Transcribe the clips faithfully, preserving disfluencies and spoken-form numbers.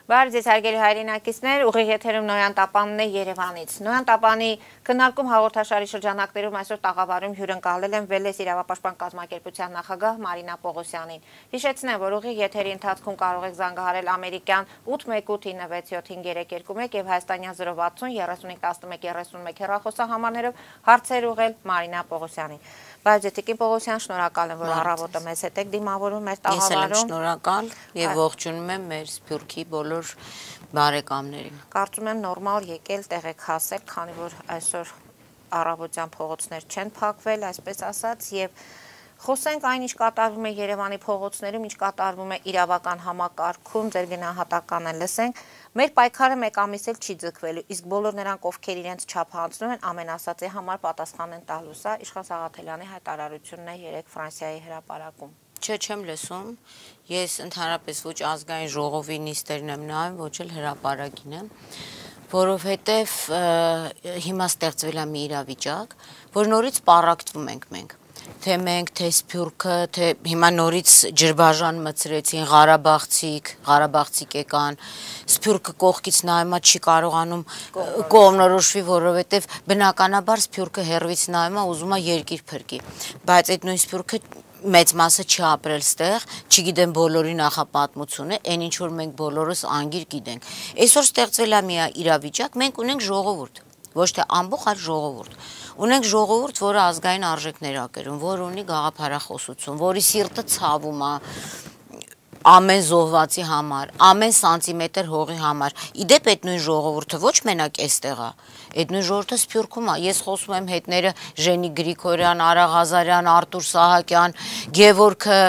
Բարև ձեզ հարգելի հայրենակիցներ, ուղիղ եթերում Նոյան Տապանն է Երևանից։ Նոյան Տապանի քննարկում հաղորդաշարի շրջանակներում այսօր տաղավարում հյուրընկալել են Վելես իրավապաշտպան կազմակերպության նախագահ Մարինա Պողոսյանին։ Հիշեցնեմ, որ ուղիղ եթերի ընթացքում կարող եք զանգահարել ամերիկյան ութ մեկ ութ ինը վեց յոթ հինգ երեք երկու մեկ եւ հայաստանյան զրո վաթսուն երեսունհինգ տասնմեկ երեսունմեկ հեռախոսահամարներով հարցեր ուղղել Մարինա Պողոսյանին։ Բայց Տիկին Պողոսյան, շնորհակալ եմ, որ առավոտը մեզ հետ եք դիմավորում մեր տաղավարում։ Ես եմ շնորհակալ եւ ողջունում եմ մեր Սփյուռքի բոլոր բարեկամներին։ Կարծում եմ նորմալ եկել տեղ եք հասել, քանի որ այսօր առավոտյան փողոցներ չեն փակվել, այսպես ասած, եւ խոսենք այն, ինչ կատարվում է Երևանի փողոցներում, ինչ կատարվում է իրավական համակարգում, ձեր գնահատականը լսենք։ Մեր պայքարը մեկ ամիս էլ չի ձգվելու, իսկ բոլոր նրանք, ովքեր իրենց չափ հանձնում են, ամեն ասածի համար պատասխան են տալու։ Սա Իշխան Սաղաթելյանի հայտարարությունն է երեկ Ֆրանսիայի հրապարակում։ Չէ, չեմ լսում։ Ես ընդհանրապես ոչ ազգային ժողովի նիստերն եմ նայում, ոչ էլ հրապարակին եմ, որովհետև հիմա ստեղծվել է մի իրավիճակ, որ նորից պառակտվում ենք մենք։ Թե մենք, թե Սփյուռքը, թե հիմա նորից ջրբաժան մցրեցին, Ղարաբաղցիք, Ղարաբաղցիք եկան, Սփյուռքը կողքից նայում է, չի կարողանում կողմնորոշվի, որովհետև բնականաբար Սփյուռքը հեռվից նայում է, ուզում է երկիր փրկի, բայց այդ նույն Սփյուռքը մեծ մասը չի ապրել ստեղ, չգիտեմ բոլորի նախապատմությունը, այն ինչ որ մենք բոլորս անգիր գիտենք։ Այսօր ստեղծվել է մի իրավիճակ, մենք ունենք ժողովուրդ, ոչ թե ամբողջ, այլ ժողովուրդ։ Ունենք ժողովուրդ, որը ազգային արժեքներ ա կրում, որ ունի գաղափարախոսություն, որի սիրտը ցավում է ամեն զոհվածի համար, ամեն սանտիմետր հողի համար։ Իդեպ այդ նույն ժողովուրդը ոչ մենակ էստեղ է, այդ նույն ժողովուրդը Սփյուռքում է։ Ես խոսում եմ հետները Ժենիկ Գրիգորյան, Արա Ղազարյան, Արտուր Սահակյան, Գևորգը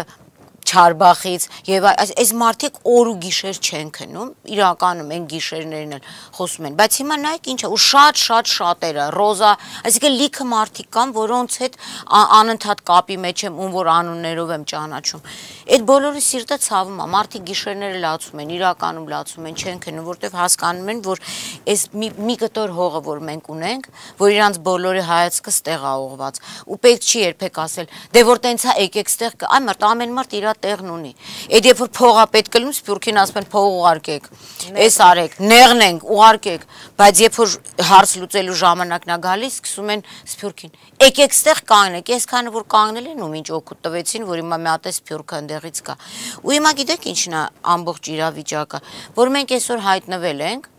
Չարբախից եւ այս մարդիկ օր ու գիշեր չեն քնում, իրականում այն գիշերներն էլ խոսում են, բայց հիմա նայեք ինչ է, ու շատ շատ շատերը, Ռոզա, այսինքն լիքը մարդիկ կան, որոնց հետ անընդհատ կապի մեջ եմ, ում որ անուններով եմ ճանաչում։ Այդ բոլորի սիրտը ցավում է, մարդիկ գիշերները լացում են, իրականում լացում են, չեն քնում, որտեվ հասկանում են, որ այս մի, մի կտոր հողը, որ մենք ունենք, որ իրանց բոլորի հայացքը ստեղ է ուղղված, ու պետք չի երբեք ասել, դե որ տենց է եկեք ստեղ, այ մարդ ամեն մարդ իր տեղն ունի։ Այդ երբ որ փողա պետք է լում, Սփյուռքին ասում են փող ուղարկեք, էս արեք, նեղնենք, ուղարկեք, բայց երբ որ հարց լուծելու ժամանակն է գալիս, սկսում են Սփյուռքին։ Եկեք ստեղ կանգնեք, այսքանը որ կանգնել են ու ինչ օգուտ տվեցին, որ հիմա մի հատ է Սփյուռքը ընդեղից կա։ Ու հիմա գիտեք ինչն է ամբողջ իրավիճակը, որ մենք այսօր հայտնվել ենք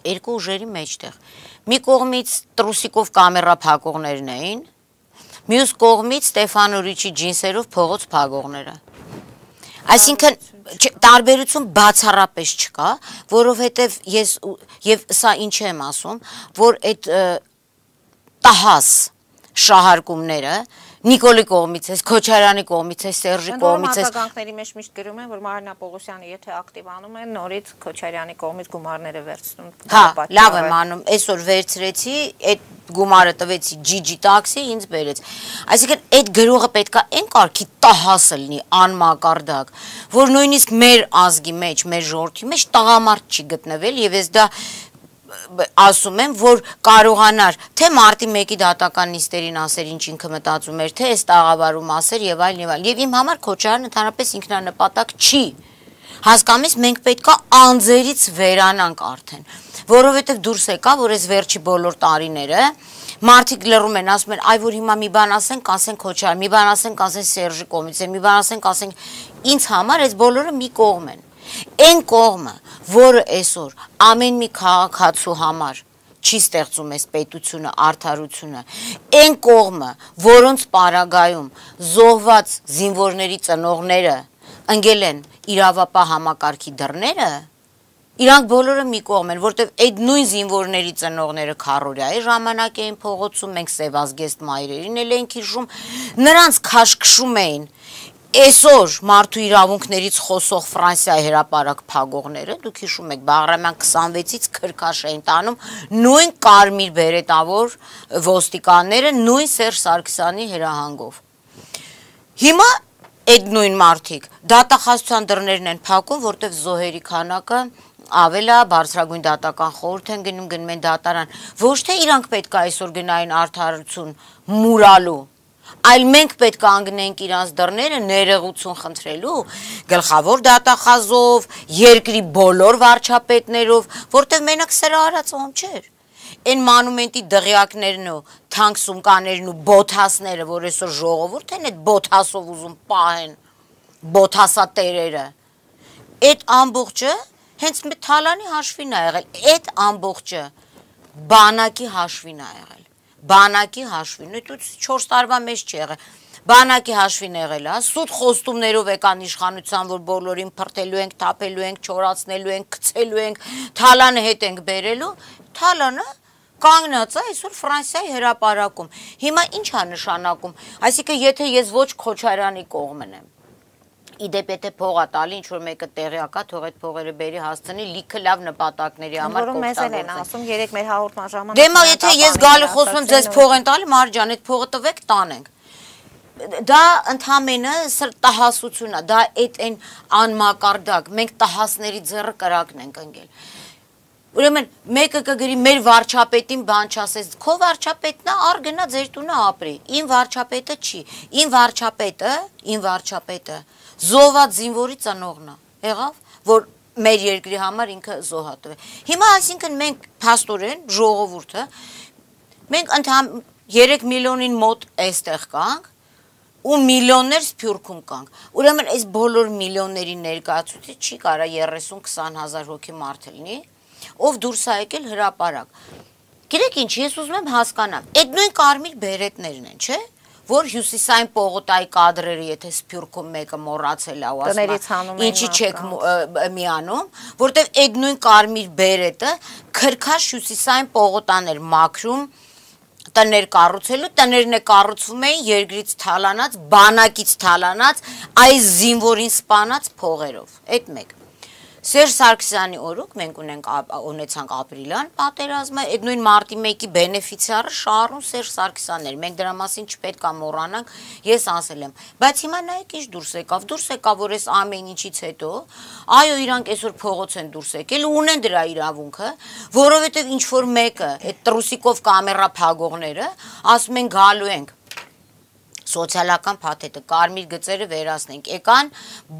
երկու ուժերի մեջտեղ։ Մի կողմից Տրուսիկով կամերա փակողներն էին, մյուս կողմից Ստեփանորիչի ջինսերով փողոց փակողները։ Այսինքն տարբերություն բացառապես չկա, որովհետև ես եւ սա ինչ եմ ասում, որ այդ տահաս շահարկումները Նիկոլի կողմից է, Քոչարյանի կողմից է, Սերժի կողմից է։ Հակագանքների մեջ միշտ գրում են, որ Մարինա Պողոսյանը եթե ակտիվանում է, նորից Քոչարյանի կողմից գումարները վերցնում։ Հա, լավ եմ անում, այսօր վերցրեցի, այդ գումարը տվեցի ջիջի տաքսի, ինձ բերեց։ Այսինքն այդ գրողը պետքա այն կարգի տահասը լինի, անմակարդակ, որ նույնիսկ մեր ազգի մեջ, մեր ժողովրդի մեջ տղամարդ չի գտնվել եւ ես դա ասում եմ, որ կարողանար թե մարտի մեկի դատական նիստերին ասեր ինչ ինքը մտածում էր, թե այս տաղավարում ասեր եւ այլն եւ այլն։ Եվ իմ համար Քոչարյանը ընդհանրապես ինքնանպատակ չի։ Հասկանում ես, մենք պետքա անձերից վերանանք արդեն, որովհետեւ դուրս եկա, որ այս վերջի բոլոր տարիները մարդիկ լռում են, ասում են, այ որ հիմա մի բան ասենք, ասեն Քոչարյան, մի բան ասենք, ասեն Սերժի կողմից, մի բան ասենք, ասենք ինձ համար այս բոլորը մի կողմ են։ Այն կողմը, որը այսօր ամեն մի քաղաքացու համար չի ստեղծում այս պետությունը, արդարությունը, այն կողմը, որոնց պարագայում զոհված զինվորների ծնողները ընկել են իրավապահ համակարգի դռները, իրանք բոլորը մի կողմ են, որտեվ այդ նույն զինվորների ծնողները քարորիայի ժամանակ էին փողոցում, մենք Սևազգեստ մայրերին էլ ենք հիշում, նրանց քաշքշում էին Այսօր մարդու իրավունքներից խոսող Ֆրանսիայի հրապարակ փակողները, դուք հիշում եք, Բաղրամյան քսանվեցից քրքաշ էին տանում նույն կարմիր բերետավոր ոստիկանները, նույն Սերժ Սարգսյանի հրահանգով։ Հիմա այդ նույն մարդիկ դատախազության դռներն են փակում, որտեղ զոհերի քանակը ավելա բարձրագույն դատական խորհուրդ են գնում, գնում են դատարան։ Ոչ թե իրանք պետք է այսօր գնային արդարություն մուրալու, այլ մենք պետք է կանգնենք իրանց դռները ներողություն խնդրելու գլխավոր դատախազով, երկրի բոլոր վարչապետներով, որտեղ մենակ սրա արած ում չէր։ Այն մանումենտի դղյակներն ու թանկ սումկաներն ու բոթասները, որ այսօր ժողովուրդ են այդ բոթասով ուզում պահեն, բոթասատերերը, այդ ամբողջը հենց մի թալանի հաշվին է եղել, այդ ամբողջը բանակի հաշվին է եղել, բանակի հաշվին, ու չորս տարվա մեջ չի եղել, բանակի հաշվին եղել է, սուտ խոստումներով եկան իշխանության, որ բոլորին փրտելու ենք, թափելու ենք, չորացնելու ենք, գցելու ենք, թալանը հետ ենք բերելու, թալանը կանգնած է այսօր Ֆրանսիայի հրապարակում։ Հիմա ինչ է նշանակում, այսինքն եթե ես ոչ Քոչարյանի կողմն եմ, իդեպ եթե փող է տալի, ինչ որ մեկը տեղյակ է, թող այդ փողերը բերի հասցնի, լիքը լավ նպատակների համար կօգտագործեն։ Որում մեզ էլ են ասում, երեք մեր հաղորդման ժամանակ։ Դե մա եթե ես գալի խոսում եմ, ձեզ փող են տալի, Մարջան, այդ փողը տվեք, տանենք։ Դա ընդհանրապես սրտահասություն է, դա այդ այն անմակարդակ, մենք տահասների ձեռը կրակն ենք ընկել։ Ուրեմն մեկը կգրի մեր վարչապետին բան չասես, քո վարչապետն է, ար գնա ձեր տունը ապրի, իմ վարչապետը չի, իմ վարչապետը, իմ վարչապետը զոհված զինվորի ծնողն է, եղավ, որ մեր երկրի համար ինքը զոհատվ է։ Հիմա այսինքն մենք փաստորեն ժողովուրդը, մենք ընդհանրապես երեք միլիոնին մոտ այստեղ կանք, ու միլիոններ Սփյուռքում կանք։ Ուրեմն այս բոլոր միլիոնների ներկայացուցիչ չի կարա երեսուն քսան հազար հոգի մարդ լինի, ով դուրս է եկել հրապարակ։ Գիտեք ինչ, ես ուզում եմ հասկանամ, այդ նույն կարմիր բերետներն են, չէ՞, որ հյուսիսային պողոտայի կադրերը, եթե Սփյուռքում մեկը մոռացել է ու ասում, ինչի չեք միանում, որտեղ այդ նույն կարմիր բերետը քրքաշ հյուսիսային պողոտաներ մաքրում տներ կառուցելու, տներն է կառուցվում էին երկրից թալանած, բանակից թալանած, այս զինվորին սպանած փողերով, այդ մեկ։ Սերժ Սարգսյանի օրոք մենք ունենք ունեցանք ապրիլյան պատերազմը, այդ նույն մարտի մեկի բենեֆիցիարը Շարուն Սերժ Սարգսյանն էր, մենք դրա մասին չպետք է մոռանանք, ես ասել եմ, բայց հիմա նայեք ինչ դուրս եկավ, դուրս եկավ, որ այս ամեն ինչից հետո, այո, իրանք այսօր փողոց են դուրս եկել ու ունեն դրա իրավունքը, որովհետև ինչ որ մեկը, այդ տրուսիկով կամերա փագողները, ասում են գալու ենք սոցիալական փաթեթը, կարմիր գծերը վերացնենք, եկան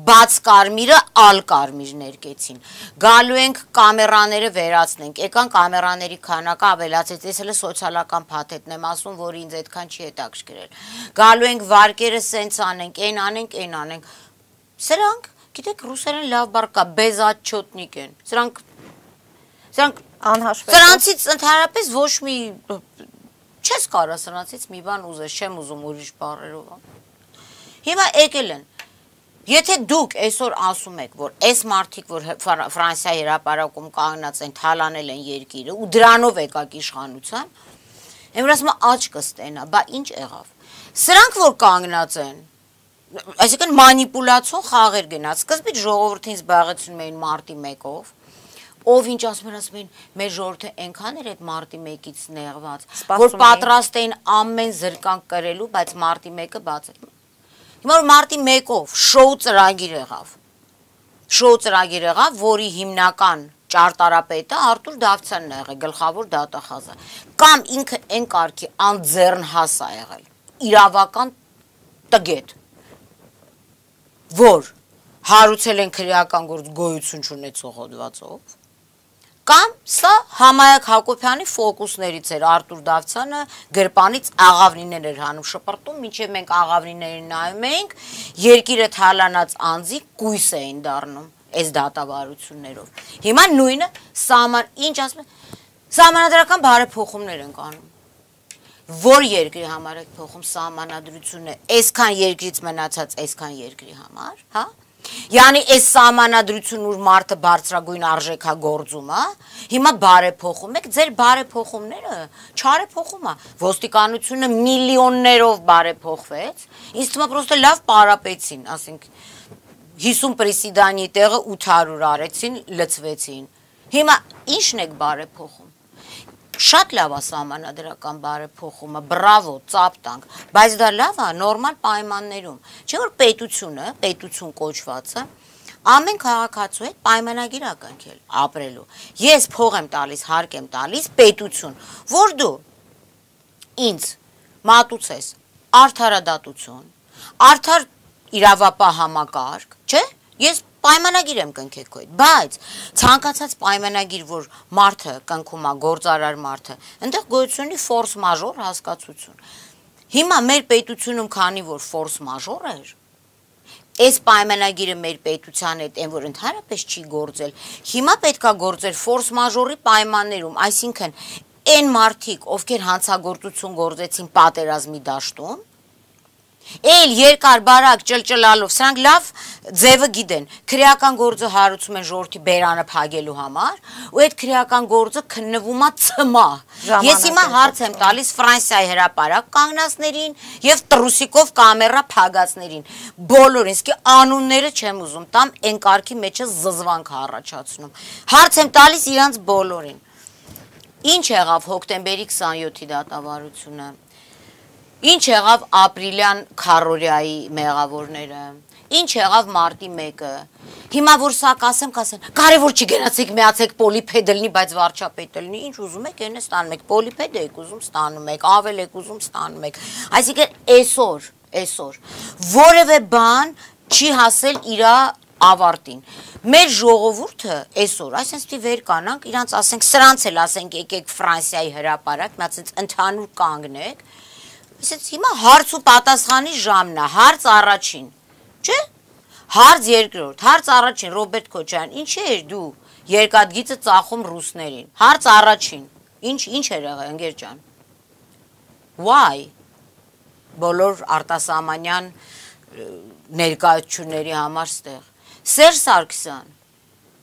բաց կարմիրը ալ կարմիր ներկեցին, գալու ենք կամերաները վերացնենք, եկան կամերաների քանակը ավելացեց, ես հələ սոցիալական փաթեթն եմ ասում, որ ինձ այդքան չի հետաքրքրել, գալու ենք վարկերը սենց անենք, այն անենք, այն անենք, սրանք, գիտեք, ռուսերեն լավ բառ կա, բեզաչոտնիկ են, սրանք, սրանք, սրանցից ընդհանրապես ոչ մի չես կարա սրանցից մի բան ուզես, չեմ ուզում ուրիշ բառերով։ Հիմա եկել են, եթե դուք այսօր ասում եք, որ այս մարդիկ, որ Ֆրանսիայի հրապարակում կանգնած են, թալանել են երկիրը ու դրանով եկակ իշխանության, եմ ասում աճ կստենա, բա ինչ եղավ։ Սրանք որ կանգնած են, այսինքն մանիպուլացիոն խաղեր գնաց, սկզբից ժողովրդին զբաղեցնում էին մարտի մեկով, ով ինչ ասում են, ասում են, մեր ժողովուրդը այնքան էր այդ մարտի մեկից նեղված, որ պատրաստ էին ամեն զրկանք կրելու, բայց մարտի մեկը բաց էր։ Հիմա որ մարտի մեկով շոու ծրագիր եղավ, շոու ծրագիր եղավ, որի հիմնական ճարտարապետը Արտուր Դավթյանն է եղել, գլխավոր դատախազը, կամ ինքը այն կարգի անձեռնհաս է եղել, իրավական տգետ, որ հարուցել են քրեական գործ գոյություն չունեցող հոդվածով, կամ սա Համայակ Հակոբյանի ֆոկուսներից էր, Արտուր Դավթյանը գրպանից աղավնիներ էր հանում շպրտում, մինչև մենք աղավնիներին նայում էինք, երկիրը թալանած անձի կույս էին դառնում այս դատավարություններով։ Հիմա նույնը սահման, ինչ ասում են, սահմանադրական բարեփոխումներ են անում։ Որ երկրի համար է փոխում սահմանադրությունը, այսքան երկրից մնացած այսքան երկրի համար, հա? Յանի այս սահմանադրությունն ուր մարդը բարձրագույն արժեք է գործում, հա? Հիմա բարեփոխում եք, ձեր բարեփոխումները չարեփոխում է։ Ոստիկանությունը միլիոններով բարեփոխվեց, ինձ թվում է պրոստը լավ պարապեցին, ասենք հիսուն պրեսիդանի տեղը ութ հարյուր արեցին, լցվեցին։ Հիմա ի՞նչն եք բարեփոխում։ Շատ լավ է սահմանադրական բարեփոխումը, բրավո, ծափ տանք, բայց դա լավ է նորմալ պայմաններում։ Չէ՞ որ պետությունը, պետություն կոչվածը, ամեն քաղաքացու հետ պայմանագիր է կնքել ապրելու։ Ես փող եմ տալիս, հարկ եմ տալիս, պետություն, որ դու ինձ մատուցես արդարադատություն, արդար իրավապահ համակարգ, չէ՞։ Ես պայմանագիր եմ կնքել քո հետ, բայց ցանկացած պայմանագիր, որ մարդը կնքում է, գործարար մարդը, այնտեղ գոյություն ունի ֆորս մաժոր հասկացություն։ Հիմա մեր պետությունում քանի որ ֆորս մաժոր էր, այս պայմանագիրը մեր պետության հետ այն որ ընդհանրապես չի գործել, հիմա պետքա գործել ֆորս մաժորի պայմաններում, այսինքն այն մարդիկ, ովքեր հանցագործություն գործեցին պատերազմի դաշտում, Էլ երկար բարակ ճլճլալով, սրանք լավ ձևը գիտեն, քրեական գործը հարուցում են ժողովրդի բերանը փակելու համար, ու այդ քրեական գործը քննվում է ցմա։ Ես հիմա հարց եմ տալիս Ֆրանսիայի հրապարակ կանգնածներին եւ տրուսիկով կամերա փակածներին։ Բոլորին, իսկ անունները չեմ ուզում տամ, այն կարգի մեջը զզվանք առաջացնում։ Հարց եմ տալիս իրանց բոլորին։ Ինչ եղավ հոկտեմբերի քսանյոթի դատավարությունը։ Ինչ եղավ ապրիլյան քարորիայի մեղավորները, ինչ եղավ մարտի մեկը, հիմա որ սա կասեմ, կասեն, կարևոր չի գնացեք միացեք պոլիպեդ լինի, բայց վարչապետ լինի, ինչ ուզում եք, այն է ստանում եք, պոլիպեդ եք ուզում ստանում եք, ավել եք ուզում ստանում եք, այսինքն այսօր, այսօր, որևէ բան չի հասել իրա ավարտին։ Մեր ժողովուրդը այսօր, այսինքն վեր կանանք, իրանց ասենք, սրանց էլ ասենք, եկեք Ֆրանսիայի հրապարակ, միացած ընդհանուր կանգնեք, Իսկ հիմա հարց ու պատասխանի ժամն է, հարց առաջին, չէ՞։ Հարց երկրորդ, հարց առաջին Ռոբերտ Քոչարյան, ինչ էր դու երկաթգիծը ծախում ռուսներին։ Հարց առաջին, ինչ ինչ էր եղել ընկեր ջան։ Why? Բոլոր արտասահմանյան ներկայացությունների համար ստեղ։ Սերժ Սարգսյան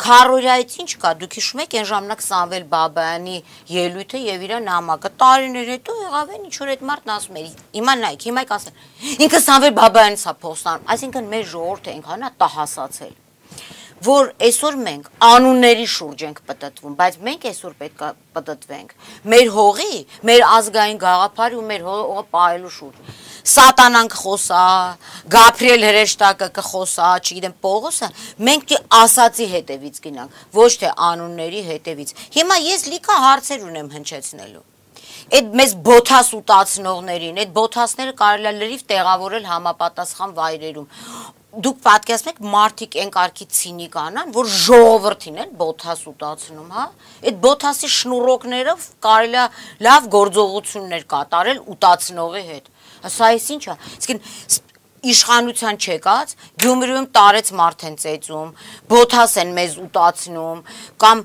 Քարորիայից ինչ կա, դուք հիշում եք այն ժամանակ Սամվել Բաբայանի ելույթը եւ իր նամակը տարիներ հետո եղավ են ինչ որ այդ մարդն ասում էր հիմա նայեք հիմա եք ասեն ինքը Սամվել Բաբայանից է փոստանում այսինքն մեր ժողովուրդը այնքան է տահասացել որ այսօր մենք անունների շուրջ ենք պտտվում բայց մենք այսօր պետք է պտտվենք մեր հողի մեր ազգային գաղափարի ու մեր հողը պահելու շուրջ Սատանան կխոսա, Գաբրիել հրեշտակը կխոսա, չգիտեմ Պողոսը, մենք դի ասացի հետևից գնանք, ոչ թե անունների հետևից։ Հիմա ես լիքը հարցեր ունեմ հնչեցնելու։ Այդ մեզ բոթաս ուտացնողներին, այդ բոթասները կարելի է լրիվ տեղավորել համապատասխան վայրերում։ Դուք պատկերացնեք մարդիկ այն կարգի ցինիկ անան, որ ժողովրդին են բոթաս ուտացնում, հա։ Այդ բոթասի շնուրոկներով կարելի է լավ գործողություններ կատարել ուտացնողի հետ։ Սա էս ինչ է, իսկ իշխանության չեկած, Գյումրիում տարեց մարդ են ծեծում, բոթաս են մեզ ուտացնում, կամ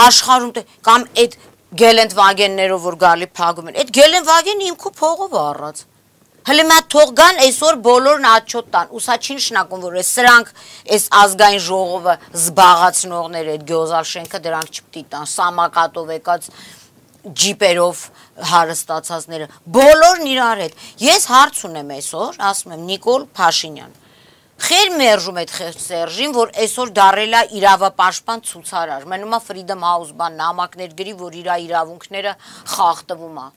աշխարհում, կամ այդ գելենտվագեններով որ գալի փակում են, այդ գելենտվագենը իմ քո փողով է առած։ Հələ մա թող գան այսօր բոլորն աչոտ տան, ու սա չի նշանակում, որ այս սրանք այս ազգային ժողովը զբաղացնողները, այդ գյոզալ շենքը դրանք չպետք է տան, սամակատով եկած ջիպերով հարստացածները, բոլորն իրար հետ։ Ես հարց ունեմ այսօր, ասում եմ Նիկոլ Փաշինյան, խեր մերժում այդ խեղճ Սերժին, որ այսօր դարել է իրավապաշտպան ցուցարար, մնում է Freedom House բան նամակներ գրի, որ իր իրավունքները խախտվում է։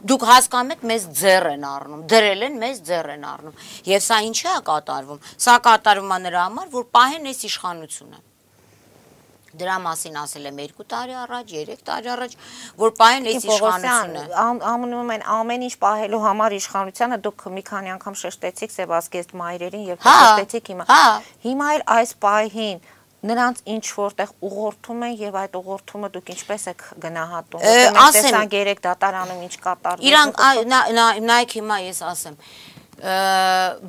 Դուք հասկանում եք, մեզ ձեռ են առնում, դրել են, մեզ ձեռ են առնում։ Եվ սա ինչի է կատարվում։ Սա կատարվում է նրա համար, որ պահեն այս իշխանությունը։ Դրա մասին ասել եմ երկու տարի առաջ, երեք տարի առաջ, որ պահեն այս իշխանությունը։ Ամնում են ամեն ինչ պահելու համար իշխանությանը դուք մի քանի անգամ շեշտեցիք Սեբասկեստ մայրերին եւ շեշտեցիք հիմա։ Հիմա էլ այս պահին նրանց ինչ որտեղ ուղղորդում են եւ այդ ուղղորդումը դուք ինչպես եք գնահատում։ Մենք տեսանք երեք դատարանում ինչ կատարվում։ Իրանք նայեք հիմա ես ասեմ։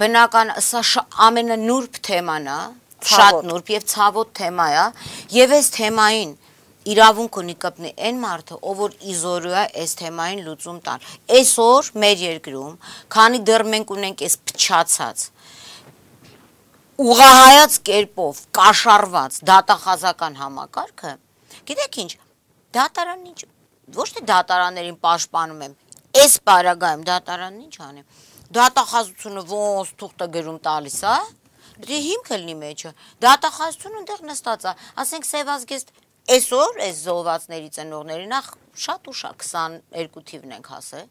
Բնական սա ամենանուրբ թեման է, շատ նուրբ եւ ցավոտ թեմա է, եւ այս թեմային իրավունք ունի կպնի այն մարդը, ով որ իզորու է այս թեմային լուծում տալ։ Այսօր մեր երկրում, քանի դեռ մենք ունենք այս փչացած ուղղահայաց կերպով կաշառված դատախազական համակարգը, գիտեք ինչ, դատարանն ինչ, ոչ թե դատարաններին պաշտպանում եմ, այս պարագայում դատարանն ինչ անեմ, դատախազությունը ոնց թուղթը գրում տալիս է, դե հիմքը լինի մեջը, դատախազությունը ընդեղ նստած է, ասենք Սևազգեստ այսօր այս զոհվածների ծնողների նախ շատ ու շատ քսաներկու թիվն ենք հասել,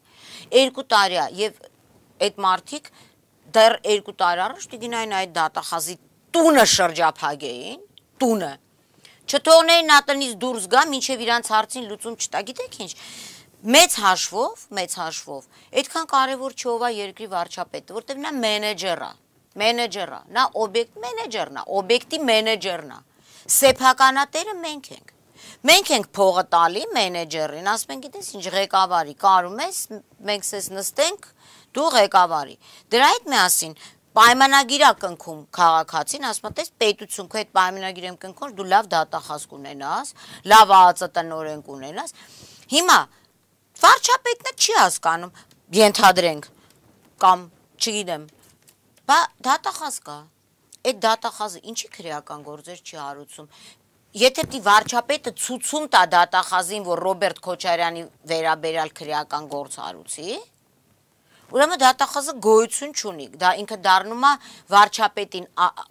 երկու տարի է եւ այդ մարդիկ դեռ երկու տարի առաջ դիգնային այդ դատախազի տունը շրջափակեին, տունը, չթողնեին նա տնից դուրս գա, մինչև իրանց հարցին լուծում չտա, գիտեք ինչ, մեծ հաշվով, մեծ հաշվով, այդքան կարևոր չի ով է երկրի վարչապետը, որտեղ նա մենեջեր է, մենեջեր է, նա օբյեկտ մենեջերն է, օբյեկտի մենեջերն է, սեփականատերը մենք ենք, մենք ենք փողը տալի մենեջերին, ասում ենք, գիտես ինչ ղեկավարի, կարում ես, մենք սես նստենք, դու ղեկավարի, դրա հետ միասին պայմանագիր է կնքում քաղաքացին, ասում է, տես պետություն քո հետ պայմանագիր եմ կնքում, դու լավ դատախազ կունենաս, լավ ԱԱԾ տնօրեն կունենաս, հիմա վարչապետն չի հասկանում, ենթադրենք, կամ չգիտեմ, բա դատախազ կա, այդ դատախազը ինչի քրեական գործեր չի հարուցում, եթե պիտի վարչապետը ցուցում տա դատախազին, որ Ռոբերտ Քոչարյանի վերաբերյալ քրեական գործ հարուցի, ուրեմն դատախազը գոյություն չունի, դա ինքը դառնում է վարչապետին,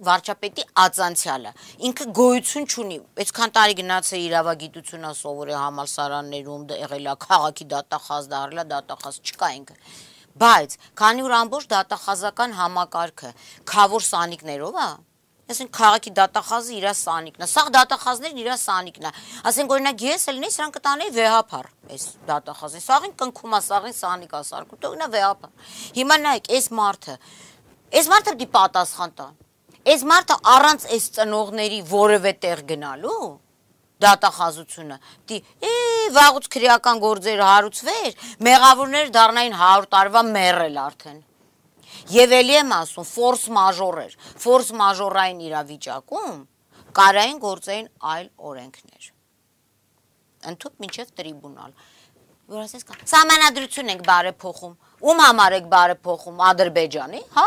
վարչապետի ածանցյալը, ինքը գոյություն չունի, այսքան տարի գնաց է իրավագիտությունը սովորել համալսարաններում, եղել է քաղաքի դատախազ, դարել է դատախազ, չկա ինքը, բայց քանի որ ամբողջ դատախազական համակարգը քավոր սանիկներով է, ասենք քաղաքի դատախազը իր սանիկն է, սա դատախազներն իր սանիկն է, ասենք օրինակ ես էլ նես սրանք կտանեի վեհապար, այս դատախազին, սաղին կնքում է, սաղին սանիկ է սարկում, տողնա վեհապար, հիմա նայեք, այս մարդը, այս մարդը պիտի պատասխան տա, այս մարդը առանց այս ծնողների որևէ տեղ գնալու, դատախազությունը, պիտի, է, վաղուց քրեական գործերը հարուցվեր, մեղավորները դառնային հարյուր տարվա մեռել արդեն, Եվ էլի եմ ասում, ֆորս մաժոր էր, ֆորս մաժորային իրավիճակում կարային գործեին այլ օրենքներ, ընդհուպ մինչև տրիբունալ, որ ասես կա, սահմանադրություն ենք բարեփոխում, ում համար եք բարեփոխում, Ադրբեջանի, հա,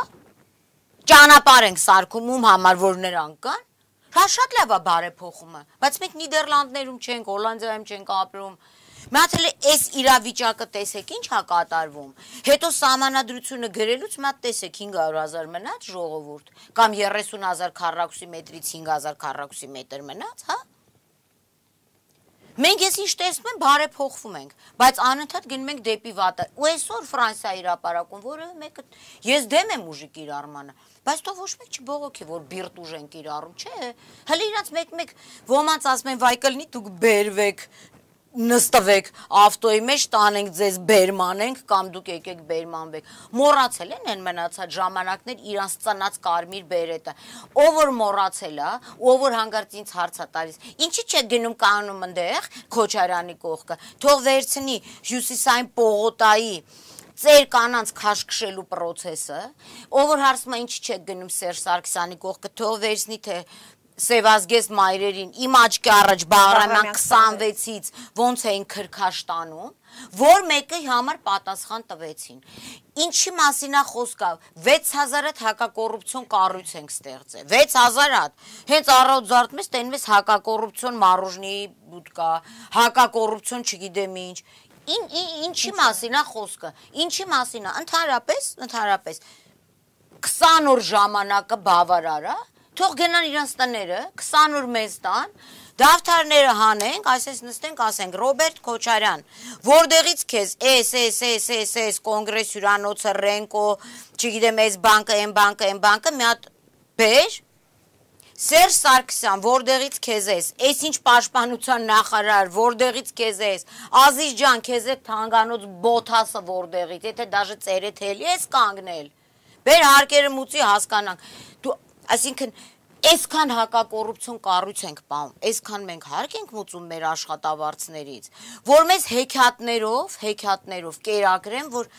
ճանապարհ ենք սարքում, ում համար որ նրանք կան, հա շատ լավ է բարեփոխումը, բայց մենք Նիդերլանդներում չենք, Հոլանդիայում չենք ապրում, Մատել այս իրավիճակը տեսեք ինչ հա կատարվում, հետո սահմանադրությունը գրելուց մատ տեսեք հինգ հարյուր հազար մնաց ժողովուրդ, կամ երեսուն հազար քառակուսի մետրից հինգ հազար քառակուսի մետր մնաց, հա? Մենք ես ինչ տեսնում եմ, բարեփոխվում ենք, բայց անընդհատ գնում ենք դեպի վատը, ու այսօր Ֆրանսիա հրապարակում, որևէ մեկը, ես դեմ եմ ուժի կիրառմանը, բայց թող ոչ մեկ չբողոքի, որ բիրտ ուժ են կիրառում, չէ, հələ իրանց մեկ-մեկ ոմանց ասում են, վայ կլինի դուք բերվեք, նստվեք, ավտոյի մեջ տանենք ձեզ բերմանենք, կամ դուք եկեք բերմանվեք, մոռացել են են մնացած ժամանակներ իրանց ծնած կարմիր բերետը, ով որ մոռացել է, ով որ հանգարց ինձ հարց է տալիս, ինչի՞ չեք գնում կանում ընդեղ Քոչարյանի կողքը, թող վերցնի Հյուսիսային պողոտայի ծեր կանանց քաշքշելու պրոցեսը, ով որ հարցում է ինչի՞ չեք գնում Սերժ Սարգսյանի կողքը, թող վերցնի թե Սևազգեստ մայրերին, իմ աչքի առաջ Բաղրամյան քսանվեցից ոնց էին քրքաշ տանում, որ մեկի համար պատասխան տվեցին։ Ինչի մասին է խոսքը, վեց հազար հատ հակակոռուպցիոն կառույց ենք ստեղծել, վեց հազար հատ, հենց առավոտ զարթում ես, տենում ես հակակոռուպցիոն մարուժնի բուտկա, հակակոռուպցիոն չգիտեմ ինչ, ինչի մասին է խոսքը, ինչի մասին է, ընդհանրապես, ընդհանրապես, քսան օր ժամանակը բավարար է, Թող գնան իրանց տները, քսան օր մեզ տան, դավթարները հանենք, այսպես նստենք, ասենք, Ռոբերտ Քոչարյան, որտեղից քեզ էս, էս, էս, էս, էս, կոնգրես հյուրանոցը, Ռենկո, չգիտեմ, էս բանկը, այն բանկը, այն բանկը, մի հատ բեր, Սերժ Սարգսյան, որտեղից քեզ էս, էս ինչ պաշտպանության նախարար, որտեղից քեզ էս, Ազիզ ջան, քեզ է թանկանոց բոթասը որտեղից, եթե դաժե ծերեթ էլի ես կանգնել, բեր հարկերը մուծի հասկանանք, դու Այսինքն, այսքան հակակոռուպցիոն կառույց ենք պահում, այսքան մենք հարկ ենք մուծում մեր աշխատավարձներից, որ մեզ հեքիաթներով, հեքիաթներով կերակրեն, որ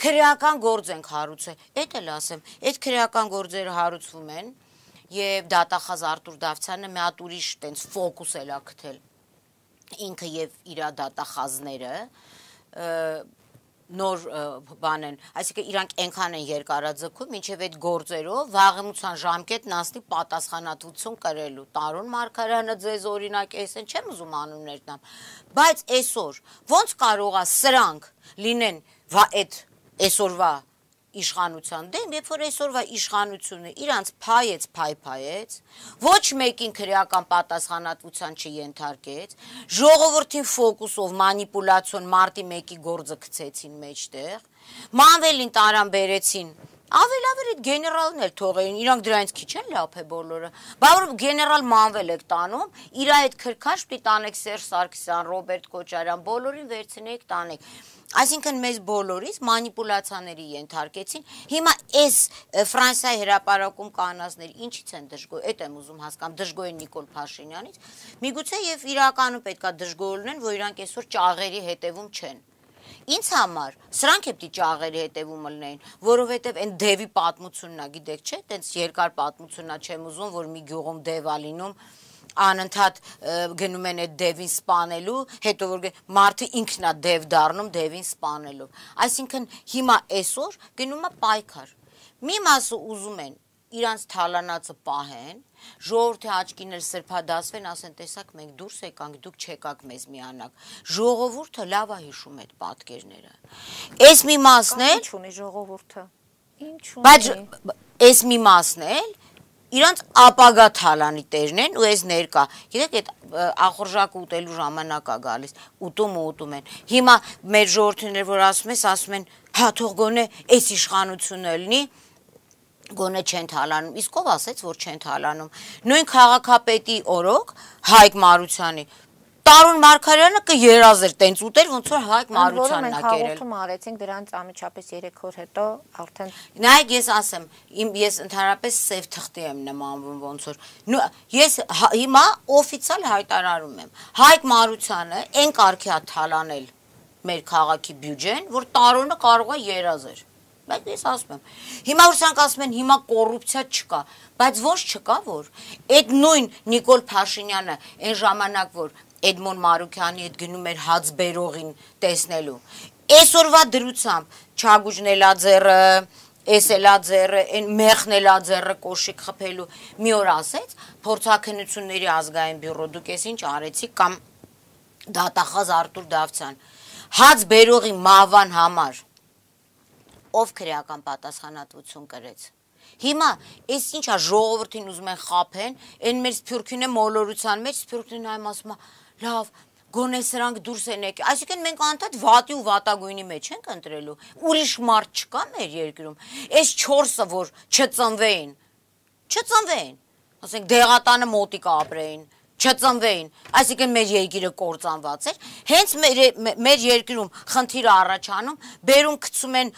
քրեական գործ ենք հարուցել, էդ էլ ասեմ, այդ քրեական գործերը հարուցվում են, եւ դատախազ Արտուր Դավթյանը մի հատ ուրիշ տենց ֆոկուս էլ ա գտել, ինքը եւ իր դատախազները, նոր բան են, այսինքն իրանք այնքան են երկարաձգում, մինչև այդ գործերով վաղեմության ժամկետն անցնի պատասխանատվություն կրելու, Տարոն Մարգարյանը ձեզ օրինակ էսեն, չեմ ուզում անուններ տամ, բայց այսօր ոնց կարող է սրանք լինեն այդ այսօրվա իշխանության դեմ, երբ որ այսօրվա իշխանությունը իրանց փայեց, փայփայեց, ոչ մեկին քրեական պատասխանատվության չենթարկեց, ժողովրդին ֆոկուսով մանիպուլյացիոն մարտի մեկի գործը գցեցին մեջտեղ, մանվելին տարան բերեցին Ավելավեր այդ գեներալն էլ թողեին, իրանք դրանից քիչ են լափ է բոլորը։ Բա որ գեներալ Մանվել եք տանում, իր այդ քրքաշ պիտի տանեք Սերժ Սարգսյան, Ռոբերտ Քոչարյան, բոլորին վերցնեք տանեք։ Այսինքն մեզ բոլորից մանիպուլյացիաների ենթարկեցին։ Հիմա այս Ֆրանսիայի հրապարակում կանածները ինչից են դժգոհ, այդ եմ ուզում հասկանամ, դժգոհ են Նիկոլ Փաշինյանից։ Միգուցե եւ իրականում պետքա դժգոհ լինեն, որ իրանք այսօր ճաղերի հետևում չեն։ Ինձ համար սրանք է պիտի ճաղերի հետևում լինեին, որովհետև այն դևի պատմությունն է, գիտեք, չէ՞, տենց երկար պատմությունն է, չեմ ուզում, որ մի գյուղում դև ա լինում, անընդհատ գնում են այդ դևին սպանելու, հետո որ մարդը ինքն է դև դառնում դևին սպանելով։ Այսինքն հիմա այսօր գնում է պայքար։ Մի մասը ուզում են իրանց թալանածը պահեն, ժողովրդի աչքին էլ սրբադասվեն, ասեն, տեսակ, մենք դուրս եկանք, դուք չեկաք մեզ միանաք։ Ժողովուրդը լավ է հիշում այդ պատկերները։ Այս մի մասն էլ Ինչ ունի ժողովուրդը։ Ինչ ունի։ Բայց այս մի մասն էլ իրանց ապագա թալանի տերն են ու այս ներկա։ Գիտեք, այդ ախորժակը ուտելու ժամանակ է գալիս, ուտում ու ուտում են։ Հիմա մեր ժողովրդիները, որ ասում ես, ասում են, հա թող գոնե այս իշխանությունը լինի, գոնե չեն թալանում, իսկ ով ասեց, որ չեն թալանում։ Նույն քաղաքապետի օրոք Հայկ Մարությանի Տարուն Մարգարյանը կերազեր տենց ուտեր, ոնց որ Հայկ Մարությանն ա կերել։ Հաղորդում արեցինք դրանց ամիջապես երեք օր հետո արդեն։ Նայեք, ես ասեմ, իմ ես ընդհանրապես սև թղթի եմ նմանվում ոնց որ։ Ես հիմա օֆիցիալ հայտարարում եմ։ Հայկ Մարությանը այն կարգի ա թալանել մեր քաղաքի բյուջեն, որ Տարոնը կարող է երազեր։ Բայց ես ասում եմ, հիմա որ սրանք ասում են, հիմա կոռուպցիա չկա, բայց ոչ չկա, որ այդ նույն Նիկոլ Փաշինյանը այն ժամանակ, որ Էդմոն Մարուքյանի հետ գնում էր հացբերողին տեսնելու, այսօրվա դրությամբ Չագուժնելաձեռը, Էսելաձեռը, այն Մեղնելաձեռը կոշիկ խփելու մի օր ասեց, փորձաքննությունների ազգային բյուրո դուք ես ինչ արեցիք կամ դատախազ Արտուր Դավթյան, հացբերողի մահվան համար ով քրեական պատասխանատվություն կրեց։ Հիմա այս ինչա ժողովրդին ուզում են խափեն, այն մեր սփյուռքին է մոլորության մեջ, սփյուռքին այմ ասում է, լավ, գոնե սրանք դուրս են եկել։ Այսինքն մենք անդադ վատի ու վատագույնի մեջ ենք ընտրելու։ Ուրիշ մարդ չկա մեր երկրում։ Այս չորսը, որ չծնվեին, չծնվեին։ Ասենք դեղատանը մոտիկ ապրեին, չծնվեին, այսինքն մեր երկիրը կործանված էր, հենց մեր երկրում խնդիրը առաջանում, բերում գցում են